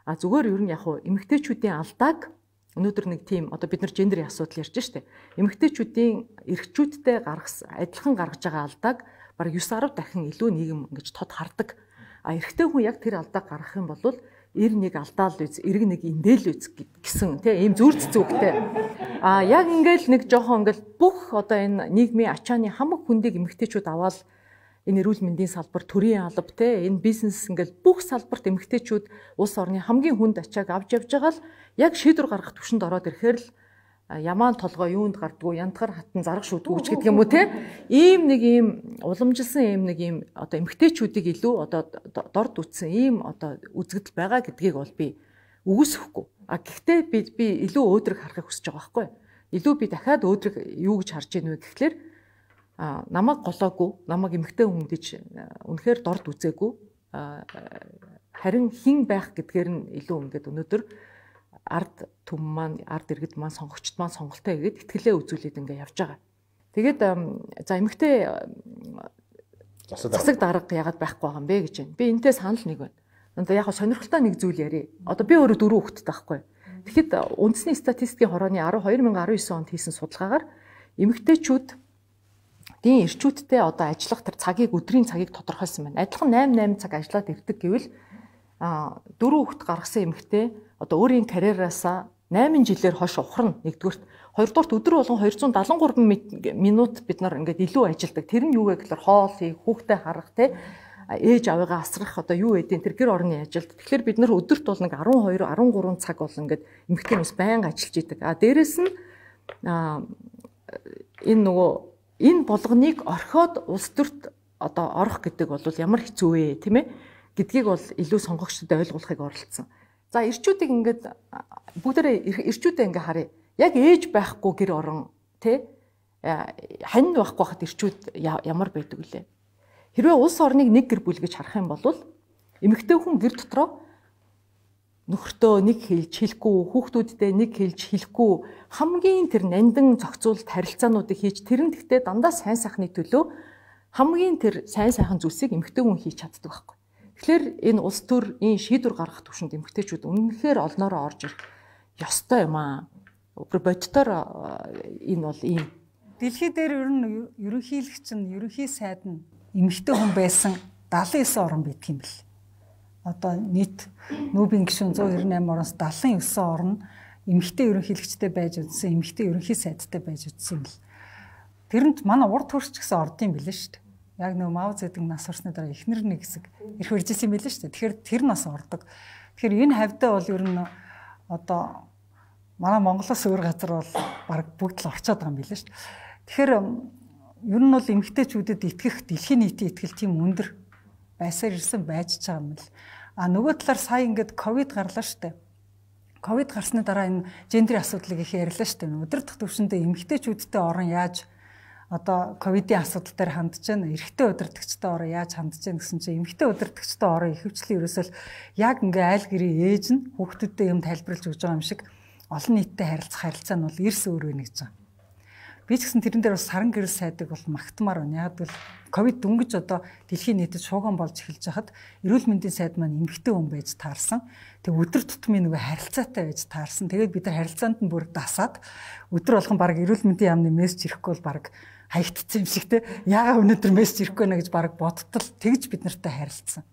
А зүгээр ер нь яг хуу эмэгтэйчүүдийн алдааг өнөөдөр нэг тийм одоо бид нар гендерийн асуудал ярьж штэ. Эмэгтэйчүүдийн эрэгчүүдтэй гаргас адилхан гаргаж байгаа алдааг бараг нine ten дахин илүү нийгэм ингэж тод хардаг. А эрэгтэй хүн яг тэр алдааг гаргах юм бол эр нэг алдаал үз, эрэг нэг индээл үз гэсэн тийм ийм зүрд зүгтэй. А яг ингээл нэг жоохон ингээл бүх одоо энэ нийгмийн ачааны хамаг хүндийг эмэгтэйчүүд аваад энэ эрүүл мэндийн салбар, төрийн алба те энэ бизнес ингээл бүх салбарт эмэгтэйчүүд улс орны хамгийн хүнд ачааг авч явж байгаа л яг шийдвэр гаргах түвшинд ороод ирэхээр л ямаан толгой юунд гардггүй, янтгар хатан зарах шүдгүүч гэдэг юм уу те ийм нэг ийм уламжилсан ийм нэг ийм одоо эмэгтэйчүүдийг илүү одоо дорд үтсэн ийм одоо үзэгдэл байгаа гэдгийг бол би үгүйсэхгүй. А гэхдээ би би илүү өөдрөг харахыг хүсэж байгаа байхгүй. Илүү би дахиад өөдрөг юу гэж харж ийн вэ гэхлээр а намайг голоогүй, намайг эмэгтэй хүн гэж үнэхээр дорд үзээгүй. Харин хин байх гэдгээр нь илүү ингээд өнөөдөр ард түм маань, ард иргэд маань, сонгогчд маань сонголтоо хийгээд итгэлээ үзүүлээд ингээд явж байгаа. Тэгээд за эмэгтэй засаг дарга яагаад байхгүй байгаа юм бэ гэж байна. Би энэтэй санал нэг байна. Одоо яг сонирхолтой нэг зүйл ярив. Одоо би өөрөө дөрөв хүүхэдтэй байхгүй. Тэгэхэд үндэсний статистикийн хорооны two thousand nineteen онд хийсэн судалгаагаар эмэгтэйчүүд дийн эрчүүдтэй одоо ажиллах тэр цагийг өдрийн цагийг тодорхойлсон байна. Адилхан eight eight цаг ажиллаад ирдэг гэвэл а дөрөв хүүхэд гаргасан эмэгтэй одоо өөрийн карьераасаа eight жилээр хойш ухарна. Нэгдүгürt, хоёрдугаарт өдөр болгон two seventy-three минут бид нар ингээд илүү ажилдаг. Тэр нь юу вэ гэхээр хоол хийх, хүүхдээ харах те ээж аваагаа асрах одоо юу гэдэг тэр гэр орны ажилд. Тэгэхээр бид нар өдөрт бол нэг twelve thirteen цаг бол ингээд эмэгтэйнээс байнга ажиллаж идэг. А дээрэс нь а энэ нөгөө энэ болгоныг орхиод улс төрт одоо орох гэдэг бол ямар хэцүү вэ тийм ээ гэдгийг бол илүү сонгогчдод ойлгуулахыг оролцсон. За эрчүүдийг ингээд бүгдээрээ эрчүүдээ ингээд харъя. Яг ээж байхгүй гэр орон тий хань байхгүй хахад эрчүүд ямар байдаг вүлээ. Хэрвээ улс орныг нэг гэр бүл гэж харах юм бол эмэгтэй хүн гэр дотроо нөхөртөө нэг хэлж хэлэхгүй, хүүхдүүдтэй нэг хэлж хэлэхгүй хамгийн тэр нандин зохицуулт харилцаануудыг хийж тэр нь гэхдээ дандаа сайн сайхны төлөө хамгийн тэр сайн сайхан зүйлсийг эмэгтэй хүн хийж чаддаг байхгүй. Тэгэхээр энэ улс төр энэ шийдвэр гаргах түвшинд эмэгтэйчүүд үнэнхээр олноороо орж ирэх ёстой юм аа. Бодтоор энэ бол ийм. Дэлхий дээр ер нь ерөнхийлөгч нь ерөнхий сайд нь эмэгтэй хүн байсан seventy-nine орн байдаг юм бэл. Одоо нийт нүүбийн гишүүн one ninety-eight ороноос seventy-nine орн эмэгтэй ерөнхийлөгчтэй байж үзсэн, эмэгтэй ерөнхий сайдтай байж үзсэн юм бэл. Тэрэнд манай урд төрч гэсэн ордын билээ шүү дээ. Яг нөө Мао Цзэдун нас орсны дараа эхнэр нэг хэсэг ирэх үржсэн юм билээ шүү дээ. Тэгэхээр тэр нас ордог. Тэгэхээр энэ хавьдаа бол ер нь одоо манай Монголоос өөр газар бол баг бүгд л орчоод байгаа юм билээ шүү дээ. Тэгэхээр ер нь бол эмэгтэйчүүдэд итгэх дэлхийн нийтийн итгэл тийм өндөр байсаар ирсэн байж байгаа юм л. А нөгөө талаар сая ингээд ковид гарлаа шүү дээ. Ковид гарсны дараа энэ гендерийн асуудлыг их ярьлаа шүү дээ. Удирдах төвшөндөө эмэгтэйчүүдтэй орон яаж одоо ковидын асуудал дээр хандж байна, эрэгтэй удирдагчтай орон яаж хандж байна гэсэн чинь эмэгтэй удирдагчтай орон ихэвчлэн ерөөсөл яг ингээ айл гэрийн ээж нь хүүхдүүдэд юм тайлбарлаж өгж байгаа юм шиг олон нийттэй харилцах харилцаа нь бол эрс өөр вэ гэж байна. Би ч гэсэн тэрэн дээр бас саран гэрэл сайдыг бол магтмаар байна. Яг бол ковид дөнгөж одоо дэлхийн нийтэд шууган болж эхэлж хахад эрүүл мэндийн сайд маань эмэгтэй хүн байж таарсан. Тэг өдөр тутмын нөгөө харилцаатай байж таарсан. Тэгээд бид нар харилцаанд нь бүр дасаад өдөр болгон баг эрүүл мэндийн яамны мессеж ирэхгүй бол баг хаягдцсан юм шиг те. Яагаад өнөөдөр мессеж ирэхгүй нэ гэж баг бодтол тэгж бид нартай харилцсан.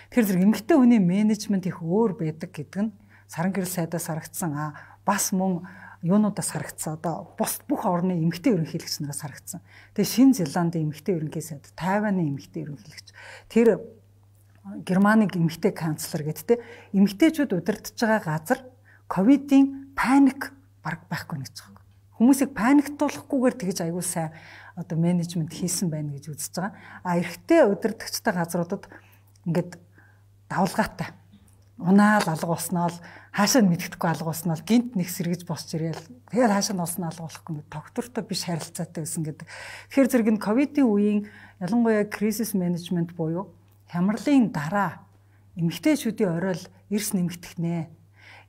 Тэгэхээр зэрэг эмэгтэй хүний менежмент их өөр байдаг гэдэг нь саран гэрэл сайдаас харагдсан. А бас мөн юунуудаас харагдсан. Одоо бус бүх орны эмэгтэй ерөнхийлөгч нараас харагдсан. Тэгээ Шинэ Зеландын эмэгтэй ерөнхий сайд, Тайваны эмэгтэй ерөнхийлөгч, тэр Германыг эмэгтэй канцлер гэдтэй эмэгтэйчүүд удирдах байгаа газар ковидын паник баг байхгүй гэж байгаа. хүмүүсийг паниктуулахгүйгээр тэгж аягүй сайн одоо менежмент хийсэн байна гэж үзэж байгаа. А эрэгтэй удирдагчтай газруудад ингээд давлгаатай. Унаал алга уснаа л хаашаа мэддэхгүй алга уснаа л гинт нэг сэргэж босч ирээл тэгээд хаашаа нь уснаа алга болохгүй ингээд доктортой биш харилцаатай байсан гэдэг. Тэгэхээр зэрэг нь ковидын үеийн ялангуяа кризис менежмент буюу хямралын дараа эмэгтэйчүүдийн оройл эрс нэмэгдэх нэ.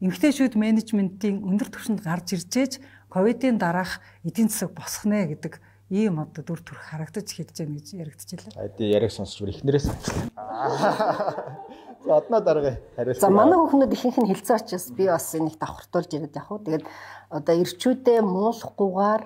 Эмэгтэйчүүд менежментийн өндөр түвшинд гарч иржээж ковидын дараах эдийн засаг босох нэ гэдэг ийм одоо дүр төрх харагдаж эхэлж байна гэж яригдчихлаа. Эди яриг сонсч бүр ихнэрээс сонслоо. За одноо дараагийн хариулт. За манай хүүхнүүд ихэнх нь хэлцээ очиж би бас энийг давхартуулж ирээд яг хуу. Тэгээд одоо ирчүүдээ муулахгүйгээр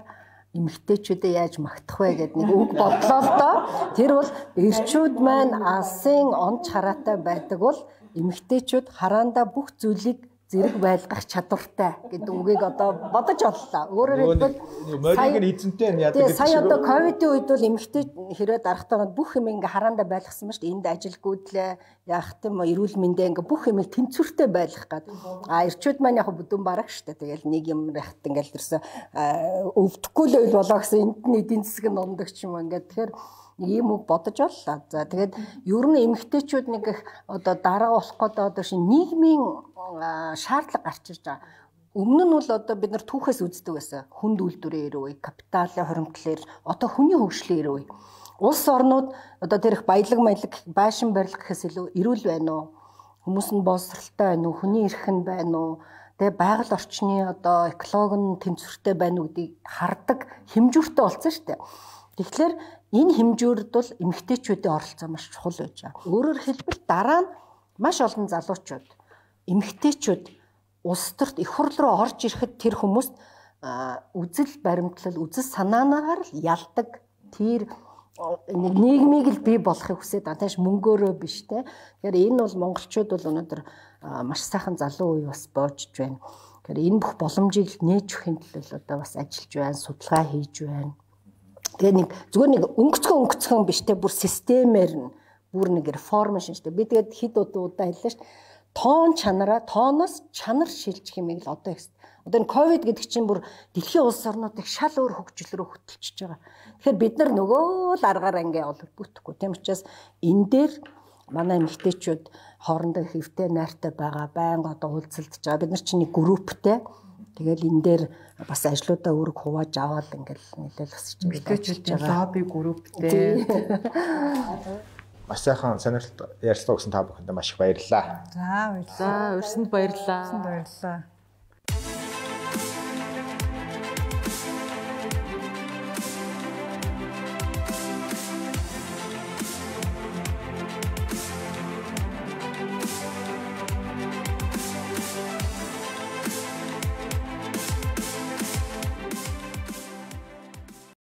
эмэгтэйчүүдээ яаж магтах вэ гэдэг нэг үг бодлоо л доо. Тэр бол ирчүүд маань алсын онц хараатай байдаг бол эмэгтэйчүүд хараандаа бүх зүйлийг зэрэг байлгах чадвартай гэдэг үгийг одоо бодож оллоо. Өөрөөр хэлбэл морийг нь эзэнтэй нь яадаг гэдэг. Сая одоо ковидын үед бол эмэгтэй хэрэг дарахтаа бүх юм ингээ хараандаа байлгасан ба шүү дээ. Энд ажилгүйдлээ яах тийм эрүүл мэндэ ингээ бүх юмыг тэнцвэртэй байлгах гад. А ирчүүд маань яг бүдүүн бараг шүү дээ. Тэгэл нэг юм рахт ингээл тэрсэн өвдөхгүй л үйл болоо гэсэн энд нь эдийн засаг нь ундаг ч юм ингээ. Тэгэхээр ийм үг бодож оллоо. За тэгээд ер нь эмэгтэйчүүд нэг их одоо дараа болох гэдэг одоо шин нийгмийн шаардлага гарч ирж байгаа. Өмнө нь бол одоо бид нар түүхээс үздэг байсан. Хүнд үйлдвэрийн эрүү үе, капиталын хоримтлал, одоо хүний хөгжлийн эрүү үе. Улс орнууд одоо тэр их баялаг маялаг байшин барилга гэхээс илүү эрүүл байна уу? Хүмүүс нь боловсралтай байна уу? Хүний эрх нь байна уу? Тэгээ байгаль орчны одоо экологи нь тэнцвэртэй байна уу гэдгийг хардаг хэмжүүртэй болсон шүү дээ. Тэгэхээр энэ хэмжүүрд бол эмэгтэйчүүдийн оролцоо маш чухал байж байгаа. Өөрөөр хэлбэл дараа нь маш олон залуучууд эмэгтэйчүүд улс төрт их хурл руу орж ирэхэд тэр хүмүүс үзэл баримтлал, үзэл санаанаагаар л ялдаг. Тэр нэг нийгмийг л бий болохыг хүсээд байгаа. Тааш мөнгөөрөө биш те. Тэгэхээр энэ бол монголчууд бол өнөөдөр маш сайхан залуу үе бас боожж байна. Тэгэхээр энэ бүх боломжийг нээж өхийн төлөө одоо бас ажиллаж байна, судалгаа хийж байна. Тэгээ нэг зүгээр нэг өнгөцгөн өнгөцгөн биш те, бүр системээр нь бүр нэг реформ шинжтэй. Би тэгээд хэд удаа удаа хэллээ шүү дээ. Тоон чанараа, тооноос чанар шилжих юм л одоо их. Одоо энэ ковид гэдэг чинь бүр дэлхийн улс орнуудыг шал өөр хөгжил рүү хөтлөж байгаа. Тэгэхээр бид нар нөгөө л аргаар ингээ ол бүтэхгүй. Тийм учраас энэ дээр манай эмэгтэйчүүд хоорондоо хэвтэй найртай байгаа, байнга одоо уулзалдж байгаа. Бид нар чинь нэг групптэй. Тэгэл энэ дээр бас ажлуудаа өөрөг хувааж аваад ингээл нэлээл өсөж байгаа. Лобби групптэй. Маш сайхан сонирхолтой ярилцлага өгсөн та бүхэнд маш их баярлалаа. За баярлалаа. За урьсанд баярлалаа. Баярлалаа.